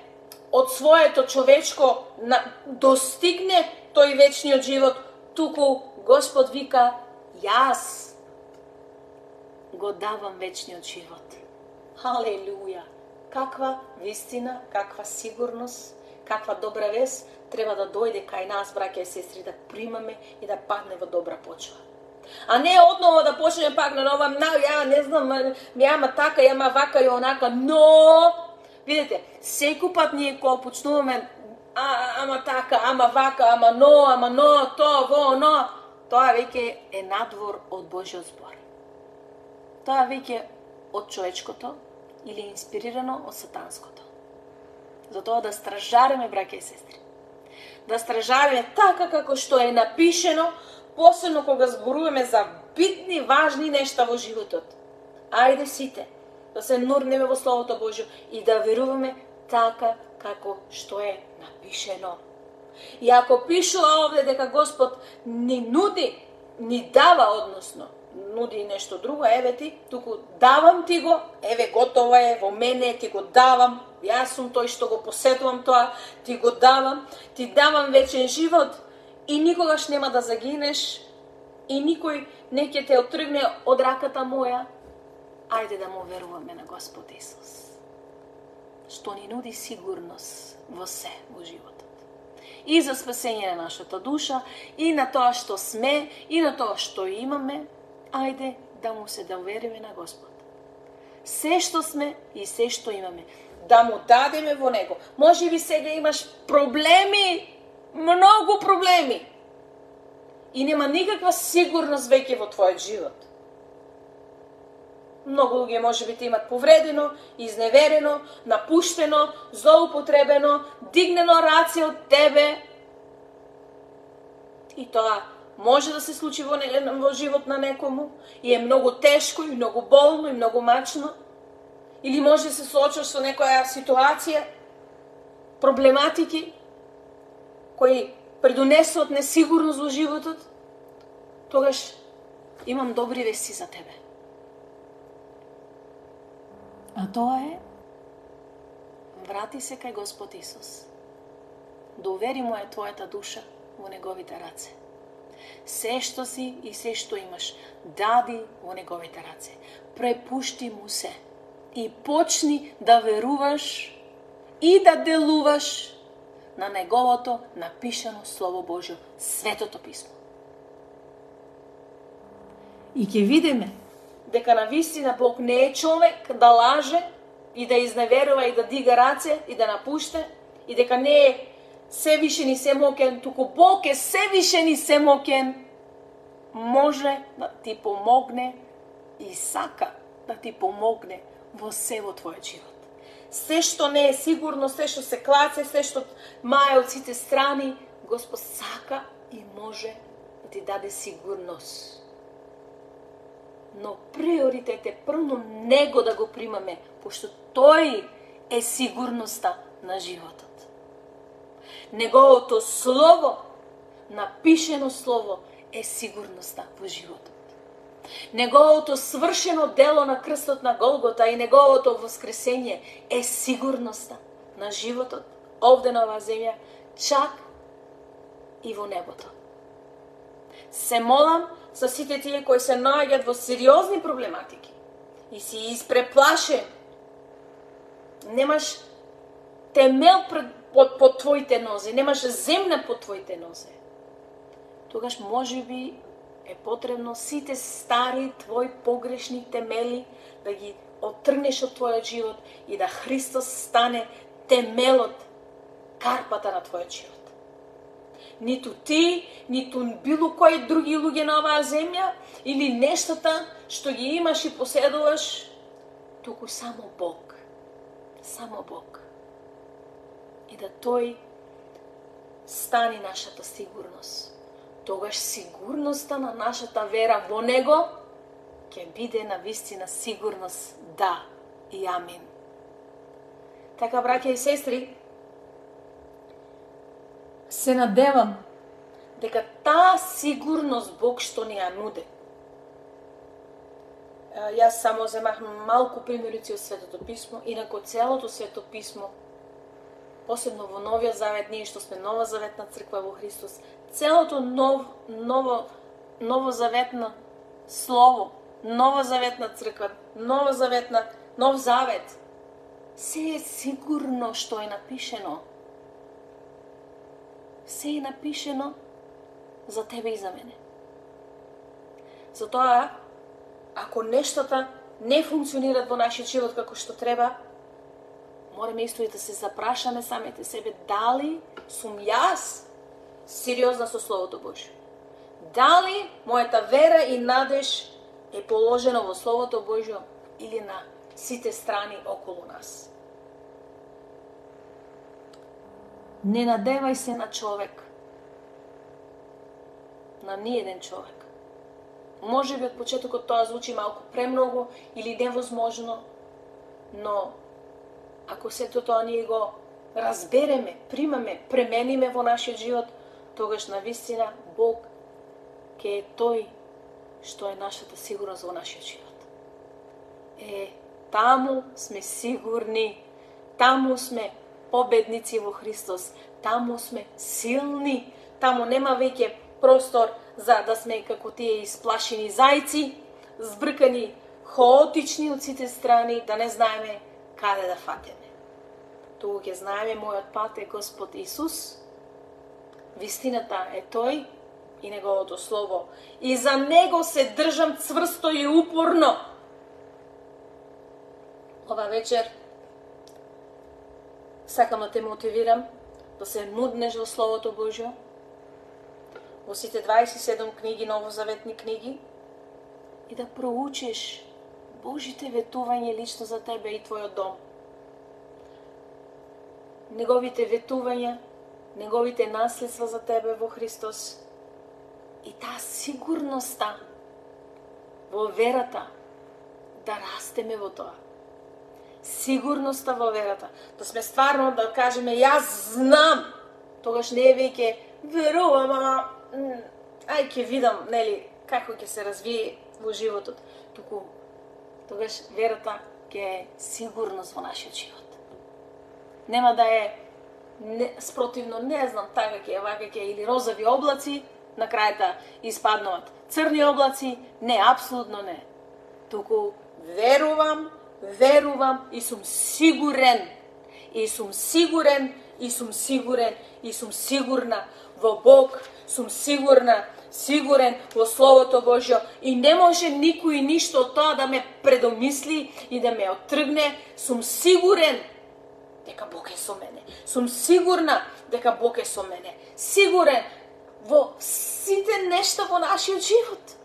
од своето човечко достигне тој вечниот живот, туку Господ вика, јас го давам вечниот живот. Халелуја! Каква вистина, каква сигурност, каква добра вест треба да дојде кај нас, браќа и сестри, да примаме и да падне во добра почва. А не одново да почнеме пак на нова, на, ја не знам, јама така, јама вака и онака, но, видите, секој пат ние кога почнуваме, а, ама така, ама вака, ама но, ама но, то, во, но, тоа веќе е надвор од Божиот збор. Тоа веќе од човечкото или инспирирано од сатанското. Затоа да стражареме, браќа и сестри. Да стражареме така како што е напишено, посебно кога зборуваме за битни, важни нешта во животот. Ајде сите да се нурнеме во Словото Божјо и да веруваме така како што е напишено. И ако пишува овде дека Господ ни нуди, ни дава, односно, нуди нешто друго, еве ти, туку давам ти го, еве готово е, во мене ти го давам, јас сум тој што го поседувам тоа, ти го давам, ти давам вечен живот и никогаш нема да загинеш и никој не ќе те отргне од раката моја. Ајде да му веруваме на Господ Исус, што ни нуди сигурност во се во животот. И за спасење на нашата душа, и на тоа што сме, и на тоа што имаме, ајде да му се довериме на Господ. Се што сме и се што имаме, да му дадеме во Него. Може би сега имаш проблеми, многу проблеми, и нема никаква сигурност веќе во твојот живот. Многу луѓе може би те имат повредено, изневерено, напуштено, злоупотребено, дигнено раце од тебе. И тоа може да се случи во, не, во живот на некому и е многу тешко и многу болно и многу мачно. Или може да се соочиш со некоја ситуација, проблематики кои предонесуваат несигурност во животот. Тогаш имам добри вести за тебе. А тоа е, врати се кај Господ Исус. Довери му е твојата душа во Неговите раце. Се што си и се што имаш, дади во Неговите раце. Препушти му се и почни да веруваш и да делуваш на Неговото напишано Слово Божјо, Светото Писмо. И ќе видиме дека на вистина Бог не е човек да лаже и да изневерува и да дига раце и да напуште, и дека не е севишен и семокен, туку Бог е севишен и семокен, може да ти помогне и сака да ти помогне во се во твојот живот. Се што не е сигурно, се што се клаце, се што мае од сите страни, Господ сака и може да ти даде сигурност. Но приоритет е прво Него да го примаме, пошто Тој е сигурноста на животот. Неговото Слово, напишено Слово, е сигурноста во животот. Неговото свршено дело на крстот на Голгота и Неговото воскресење е сигурноста на животот овде на оваа земја, чак и во небото. Се молам за сите тие кои се наоѓаат во сериозни проблематики и си испреплашен, немаш темел пред, под, под твоите нозе, немаш земја под твоите нозе. Тогаш може би е потребно сите стари твои погрешни темели да ги оттргнеш од твојот живот и да Христос стане темелот, карпата на твојот живот. Ниту ти, ниту било кои други луѓе на оваа земја или нештата што ги имаш и поседуваш, туку само Бог. Само Бог. И да Тој стани нашата сигурност. Тогаш сигурноста на нашата вера во Него ќе биде на вистина сигурност да и амин. Така, браќа и сестри, се надевам дека таа сигурност Бог што ни ја нуди. Јас само земах малку примерици од Светото Писмо, инако целото Свето Писмо посебно во Новиот Завет, ние што сме нова заветна црква во Христос, целото нов, ново, новозаветно слово, новозаветна црква, новозаветна, нов завет, се е сигурно што е напишено. Се е напишено за тебе и за мене. Затоа, ако нештата не функционират во нашиот живот како што треба, мораме исто и да се запрашаме самите себе, дали сум јас сериозна со Словото Божјо? Дали мојата вера и надеж е положена во Словото Божјо или на сите страни околу нас? Не надевај се на човек, на ниеден човек. Може би од почетокот тоа звучи малку премногу или невозможно, но ако сето тоа ние го разбереме, примаме, премениме во нашиот живот, тогаш навистина Бог ке е тој што е нашата сигурност во нашиот живот. Е, таму сме сигурни, таму сме победници во Христос, таму сме силни, таму нема веќе простор за да сме како тие исплашени зајци, збркани, хаотични од сите страни, да не знаеме каде да фатеме. Туку ќе знаеме мојот пат е Господ Исус, вистината е Тој и Неговото Слово. И за Него се држам цврсто и упорно. Ова вечер сакам да те мотивирам да се нуднеш во Словото Божјо, во сите дваесет и седум книги, новозаветни книги, и да проучиш Божите ветување лично за тебе и твојот дом. Неговите ветувања, Неговите наследства за тебе во Христос и таа сигурноста во верата да растеме во тоа. Сигурноста во верата. Да сме стварно да кажеме јас знам, тогаш не е веќе верувам, ама ај ќе видам, нели, како ќе се развие во животот. Туку тогаш верата ќе е сигурност во нашиот живот. Нема да е не, спротивно, не знам, така ќе е, вака ќе е, или розови облаци, на крајата испаднуваат црни облаци, не, апсолутно не. Туку верувам, верувам и сум сигурен, и сум сигурен, и сум сигурен, и сум сигурна во Бог, сум сигурна, сигурен во Словото Божјо и не може никој ништо од тоа да ме предомисли и да ме оттргне. Сум сигурен дека Бог е со мене. Сум сигурна дека Бог е со мене. Сигурен во сите нешта во нашиот живот.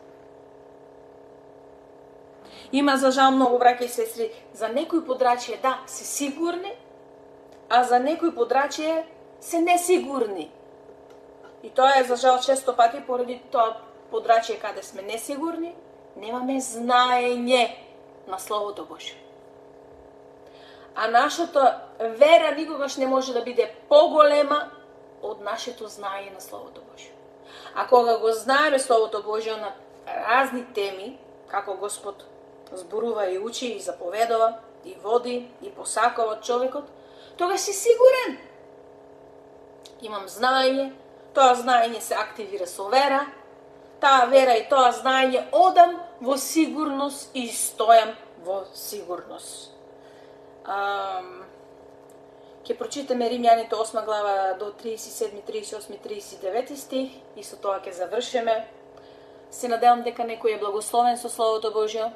Има за жал многу браќа и сестри, за некои подрачје да се сигурни, а за некои подрачје се несигурни. И тоа е за жал често пати поради тоа подрачје каде сме несигурни, немаме знаење на Словото Божјо. А нашата вера никогаш не може да биде поголема од нашето знаење на Словото Божјо. А кога го знаеме Словото Божјо на разни теми, како Господ зборува и учи и заповедува, и води, и посакува од човекот, тогаш си сигурен. Имам знаење, тоа знаење се активира со вера, таа вера и тоа знаење одам во сигурност и стојам во сигурност. Ам... Ке прочитаме Римјаните осма глава до тридесет и седми, тридесет и осми, тридесет и девети стих и со тоа ќе завршиме. Се надевам дека некој е благословен со Словото Божјо.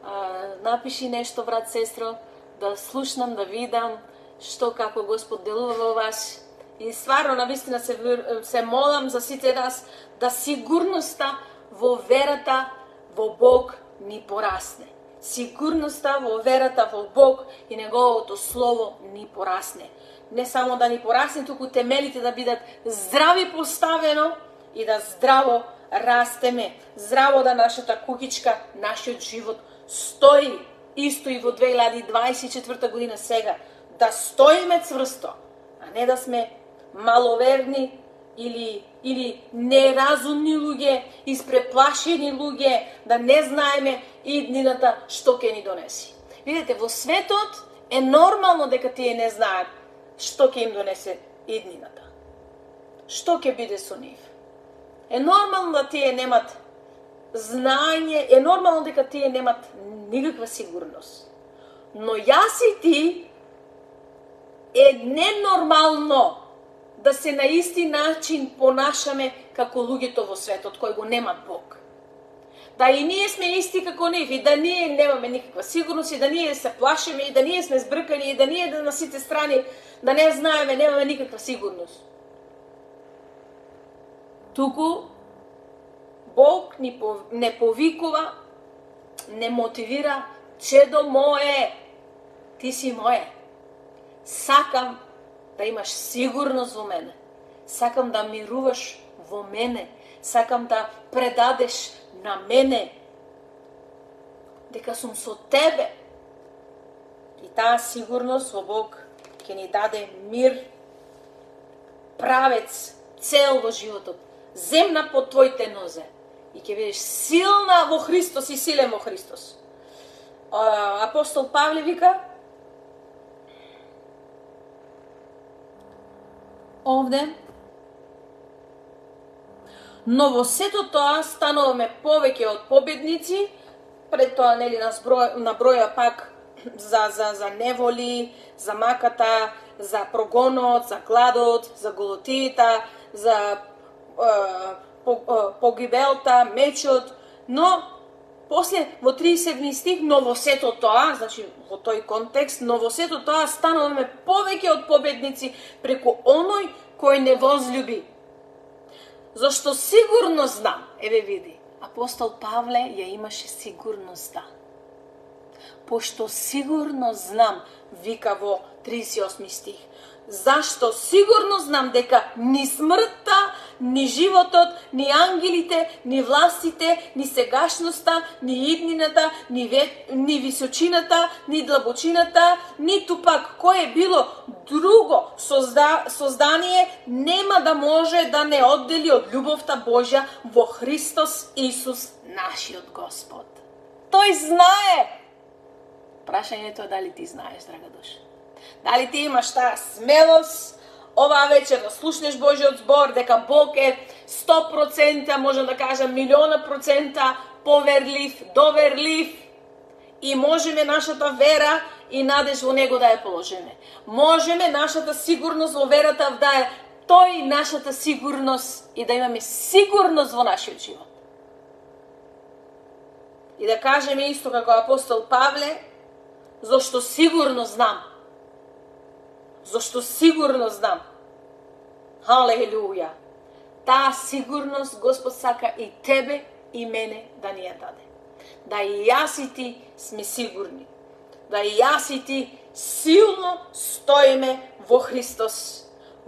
А, напиши нешто, брат, сестро, да слушнам, да видам што како Господ делува во вас. И стварно, навистина се, се молам за сите нас да сигурноста во верата во Бог ни порасне. Сигурноста во верата во Бог и Неговото Слово ни порасне. Не само да ни порасне, туку темелите да бидат здрави поставено и да здраво растеме. Здраво да нашата кукичка, нашиот живот стои исто и во две илјади дваесет и четврта година сега. Да стоиме цврсто, а не да сме маловерни или, или неразумни луѓе, испреплашени луѓе, да не знаеме иднината што ќе ни донеси. Видете, во светот е нормално дека тие не знаат што ќе им донесе иднината. Што ќе биде со нив? Е нормално да тие немат знаење, е нормално дека тие немат никаква сигурност. Но јас и ти е ненормално да се на исти начин понашаме како луѓето во светот кои го немат Бог. Да и ние сме исти како нив, и да ние немаме никаква сигурност, и да ние се плашиме, и да ние сме збркани, и да ние да на сите страни да не знаеме, немаме никаква сигурност. Туку Бог ни не повикува, не мотивира, чедо мое, ти си мое. Сакам да имаш сигурност во мене. Сакам да мируваш во мене. Сакам да предадеш на мене дека сум со тебе. И таа сигурност во Бог ќе ни даде мир, правец, цел во животот, земна под твоите нозе. И ќе бидеш силна во Христос и силен во Христос. Апостол Павле вика овде: но во сето тоа стануваме повеќе од победници. Пред тоа нели наброја пак за за за неволи, за маката, за прогонот, за гладот, за голотијата, за е, погибелта, мечот, но после во тридесет и седми стих, но во сето тоа, значи во тој контекст, но во сето тоа стануваме повеќе од победници преку оној кој не возлюби. Зашто сигурно знам, еве види, апостол Павле ја имаше сигурноста. Пошто сигурно знам, вика во тридесет и осми стих, зашто сигурно знам дека ни смртта, ни животот, ни ангелите, ни властите, ни сегашноста, ни иднината, ни, ве... ни височината, ни длабочината, ниту пак кое било друго созда... создание нема да може да не оддели од љубовта Божја во Христос Исус, нашиот Господ. Тој знае. Прашањето е дали ти знаеш, драга душа. Дали ти имаш таа смелост оваа вечер да слушнеш Божиот збор, дека Бог е сто проценти, можам да кажам милиона процента поверлив, доверлив, и можеме нашата вера и надеж во Него да ја положиме. Можеме нашата сигурност во верата да е тој нашата сигурност и да имаме сигурност во нашиот живот. И да кажеме исто како апостол Павле, зашто сигурно знам. Зашто сигурно знам. Халелуја. Таа сигурност Господ сака и тебе и мене да ни ја даде. Да и јас и ти сме сигурни. Да и јас и ти силно стоиме во Христос.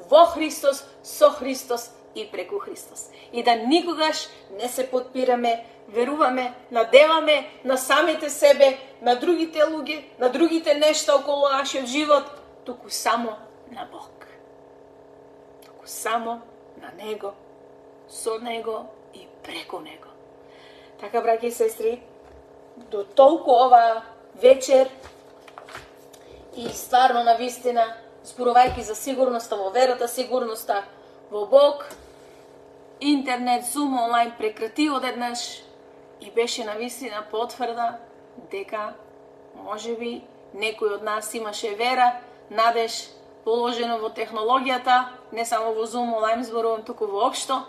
Во Христос, со Христос и преку Христос. И да никогаш не се подпираме, веруваме, надеваме на самите себе, на другите луѓе, на другите нешта околу нашиот живот, туку само на Бог. Туку само на Него, со Него и преку Него. Така, браќи и сестри, до толку ова вечер и стварно на вистина, зборувајќи за сигурноста во верата, сигурноста во Бог, интернет, Zoom, онлайн прекрати одеднаш и беше на вистина потврда дека можеби некој од нас имаше вера, надеж положено во технологијата, не само во Zoom, онлайн зборувам, туку воопшто,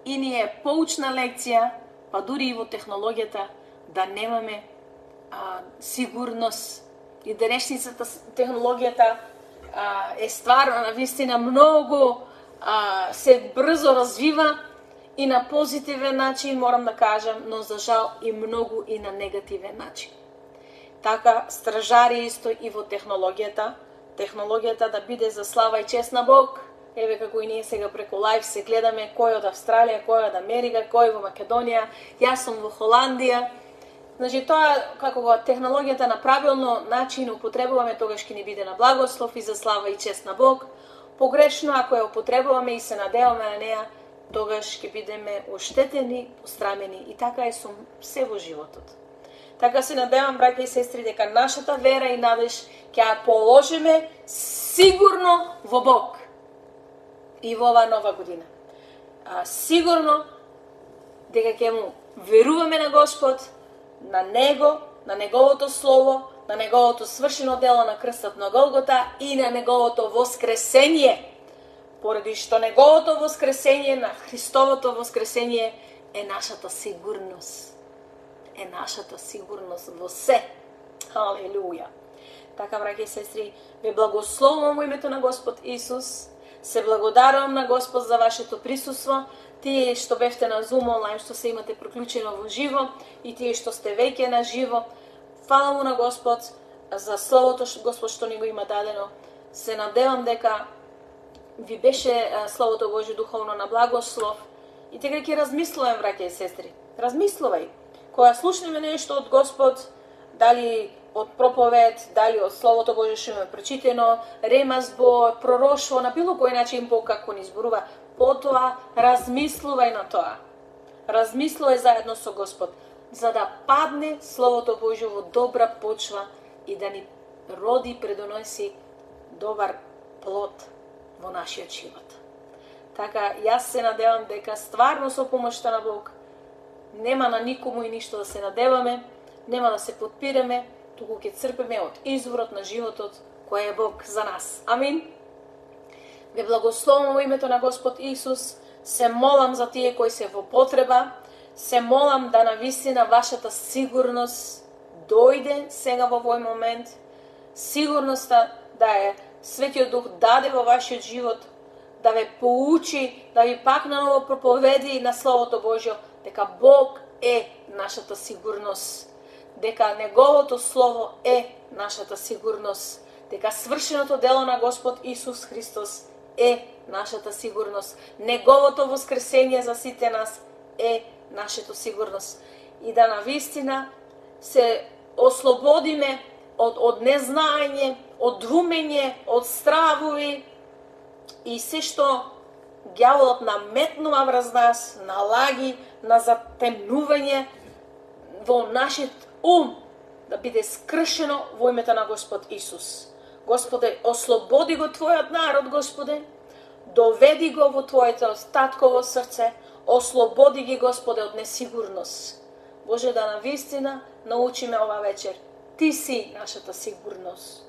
и ни е поучна лекција, па дури и во технологијата, да немаме а, сигурност. И денешницата технологијата а, е стварно на вистина многу а, се брзо развива и на позитивен начин, морам да кажам, но за жал и многу и на негативен начин. Така, стражари исто и во технологијата, технологијата да биде за слава и чест на Бог. Еве како и ние сега преку лайв се гледаме кој од Австралија, кој од Америка, кој во Македонија, јас сум во Холандија. Значи тоа како го технологијата на правилно начин употребуваме, тогаш ќе ни биде на благослов и за слава и чест на Бог. Погрешно ако ја употребуваме и се надеваме на неа, тогаш ќе бидеме оштетени, пострамени, и така е со се во животот. Така се надевам, браќа и сестри, дека нашата вера и надеж ќе ја положиме сигурно во Бог и во оваа нова година. А, сигурно дека ќе му веруваме на Господ, на Него, на Неговото Слово, на Неговото свршено дело на крстот на Голгота и на Неговото воскресение. Поради што Неговото воскресение, на Христовото воскресение е нашата сигурност. Е нашата сигурност во се. Халелуја. Така, браќа и сестри, ве благословувам во името на Господ Исус. Се благодарувам на Господ за вашето присуство. Тие што бевте на Zoom онлайн, што се имате приклучено во живо, и тие што сте веќе на живо. Фала му на Господ за Словото што Господ што ни го има дадено. Се надевам дека ви беше Словото Божје духовно на благослов. И тега ќе размислувам, браќа и сестри. Размислувај. Кога слушнеме нешто од Господ, дали од проповед, дали од Словото Божје што има прочитено, ремазбо, пророштво, на било кој начин Бог како ни зборува, потоа размислувај на тоа. Размислувај заедно со Господ, за да падне Словото Божје во добра почва и да ни роди, предоноси добар плод во нашиот живот. Така, јас се надевам дека стварно со помошта на Бог нема на никому и ништо да се надеваме, нема да се подпираме, туку ќе црпиме од изворот на животот кој е Бог за нас. Амин. Ве благословувам во името на Господ Исус. Се молам за тие кои се во потреба. Се молам да навистина вашата сигурност дојде сега во овој момент. Сигурноста да е Светиот Дух даде во вашиот живот, да ве поучи, да ви пак наново проповеди на Словото Божјо, дека Бог е нашата сигурност, дека Неговото Слово е нашата сигурност, дека свршеното дело на Господ Исус Христос е нашата сигурност, Неговото воскресение за сите нас е нашата сигурност. И да навистина се ослободиме од, од незнаење, од двумење, од стравови и се што ѓаволот наметнува врз нас, налаги на затемнување во нашиот ум, да биде скршено во името на Господ Исус. Господе, ослободи го Твојот народ, Господе, доведи го во Твоето татково срце, ослободи ги, Господе, од несигурност. Боже, да навистина научиме ова вечер. Ти си нашата сигурност.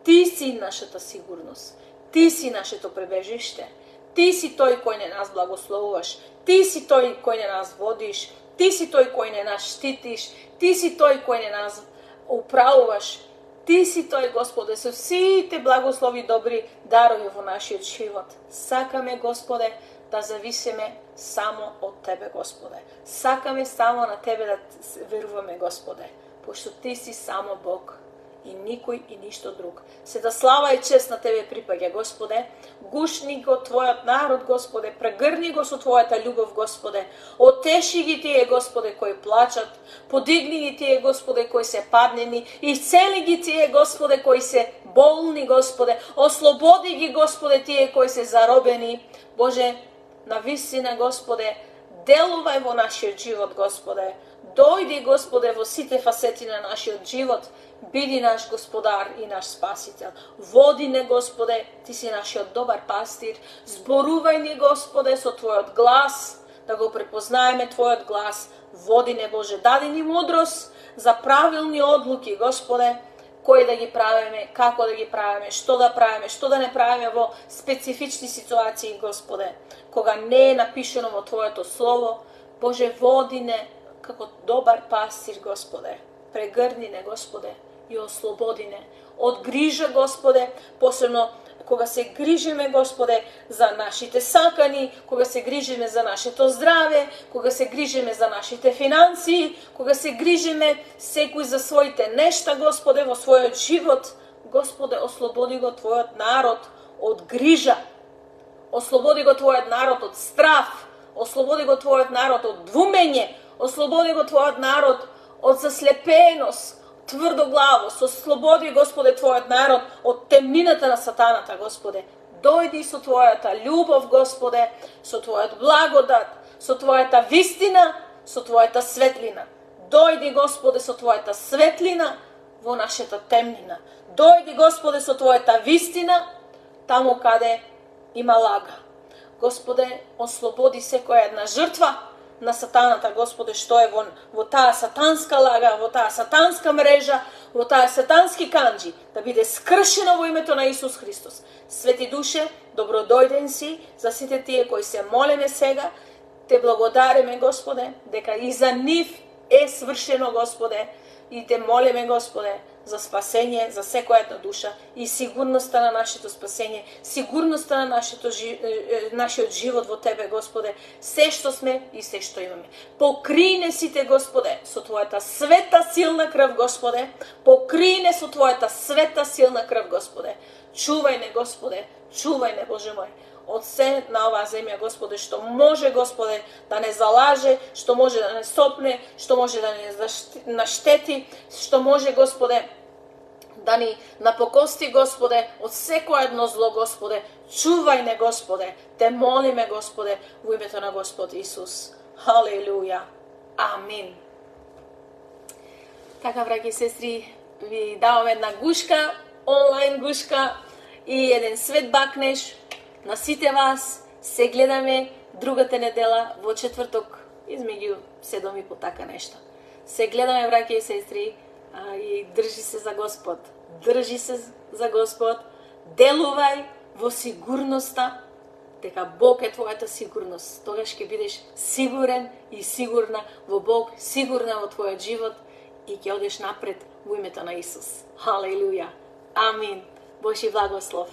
Ти си нашата сигурност. Ти си нашето пребежиште. Ти си тој кој не нас благословуваш. Ти си тој кој не нас водиш. Ти си тој кој не нас штитиш. Ти си тој кој не нас управуваш. Ти си тој, Господе, со сите благослови добри дарови во нашиот живот. Сакаме, Господе, да зависиме само од Тебе, Господе. Сакаме само на Тебе да веруваме, Господе, пошто Ти си само Бог и никој и ништо друг. Се да слава и чест на Тебе припаѓа, Господе. Гушни го Твојот народ, Господе, прегрни го со Твојата љубов, Господе. Отеши ги тие, Господе, кои плачат, подигни ги тие, Господе, кои се паднени, исцели ги тие, Господе, кои се болни, Господе. Ослободи ги, Господе, тие кои се заробени. Боже, навистина, Господе, делувај во нашиот живот, Господе. Дојди, Господе, во сите фасети на нашиот живот. Биди наш Господар и наш Спасител. Води не, Господе, Ти си нашиот добар пастир. Зборувај ни, Господе, со Твојот глас, да го препознаеме Твојот глас. Води не, Боже, дади ни мудрост за правилни одлуки, Господе, кои да ги правиме, како да ги правиме, што да правиме, што да не правиме во специфични ситуации, Господе, кога не е напишено во Твоето Слово. Боже, води не како добар пастир, Господе. Прегрни не, Господе, и ослободи не. Од грижа, Господе, посебно кога се грижиме, Господе, за нашите сакани, кога се грижиме за нашето здраве, кога се грижиме за нашите финансии, кога се грижиме секој за своите нешта, Господе, во својот живот. Господе, ослободи го Твојот народ од грижа. Ослободи го Твојот народ од страв. Ослободи го Твојот народ од двумење. Ослободи го Твојот народ од заслепеност, тврдоглавост. Ослободи, Господе, Твојот народ од темнината на сатаната, Господе. Дојди со Твојата љубов, Господе, со Твојот благодат, со Твојата вистина, со Твојата светлина. Дојди, Господе, со Твојата светлина во нашата темнина. Дојди, Господе, со Твојата вистина таму каде има лага. Господе, ослободи секоја една жртва на сатаната, Господе, што е во, во таа сатанска лага, во таа сатанска мрежа, во таа сатански канџи, да биде скршено во името на Исус Христос. Свети душе, добродојден си за сите тие кои се молеме сега. Те благодариме, Господе, дека и за нив е свршено, Господе, и те молиме, Господе, за спасење за секоја една душа и сигурноста на нашето спасење, сигурноста на нашето, нашиот живот во Тебе, Господе, се што сме и се што имаме. Покри не сите, Господе, со Твојата света силна крв, Господе, покри не со Твојата света силна крв, Господе. Чувај не, Господе, чувај не, Боже мој, од се на оваа земја, Господе, што може, Господе, да не залаже, што може да не сопне, што може да не наштети, што може, Господе, да ни напокости, Господе, од секој едно зло, Господе. Чувај не, Господе, те молиме, Господе, во името на Господ Исус. Халелуја. Амин. Така, браќи и сестри, ви давам една гушка, онлайн гушка и еден свет бакнеш на сите вас. Се гледаме другата недела во четврток измеѓу седум и по така нешто. Се гледаме, браќи и сестри, а, и држи се за Господ. Држи се за Господ. Делувај во сигурноста дека Бог е твојата сигурност. Тогаш ќе бидеш сигурен и сигурна во Бог, сигурна во твојот живот и ќе одеш напред во името на Исус. Халелуја. Амин. Божи благослов.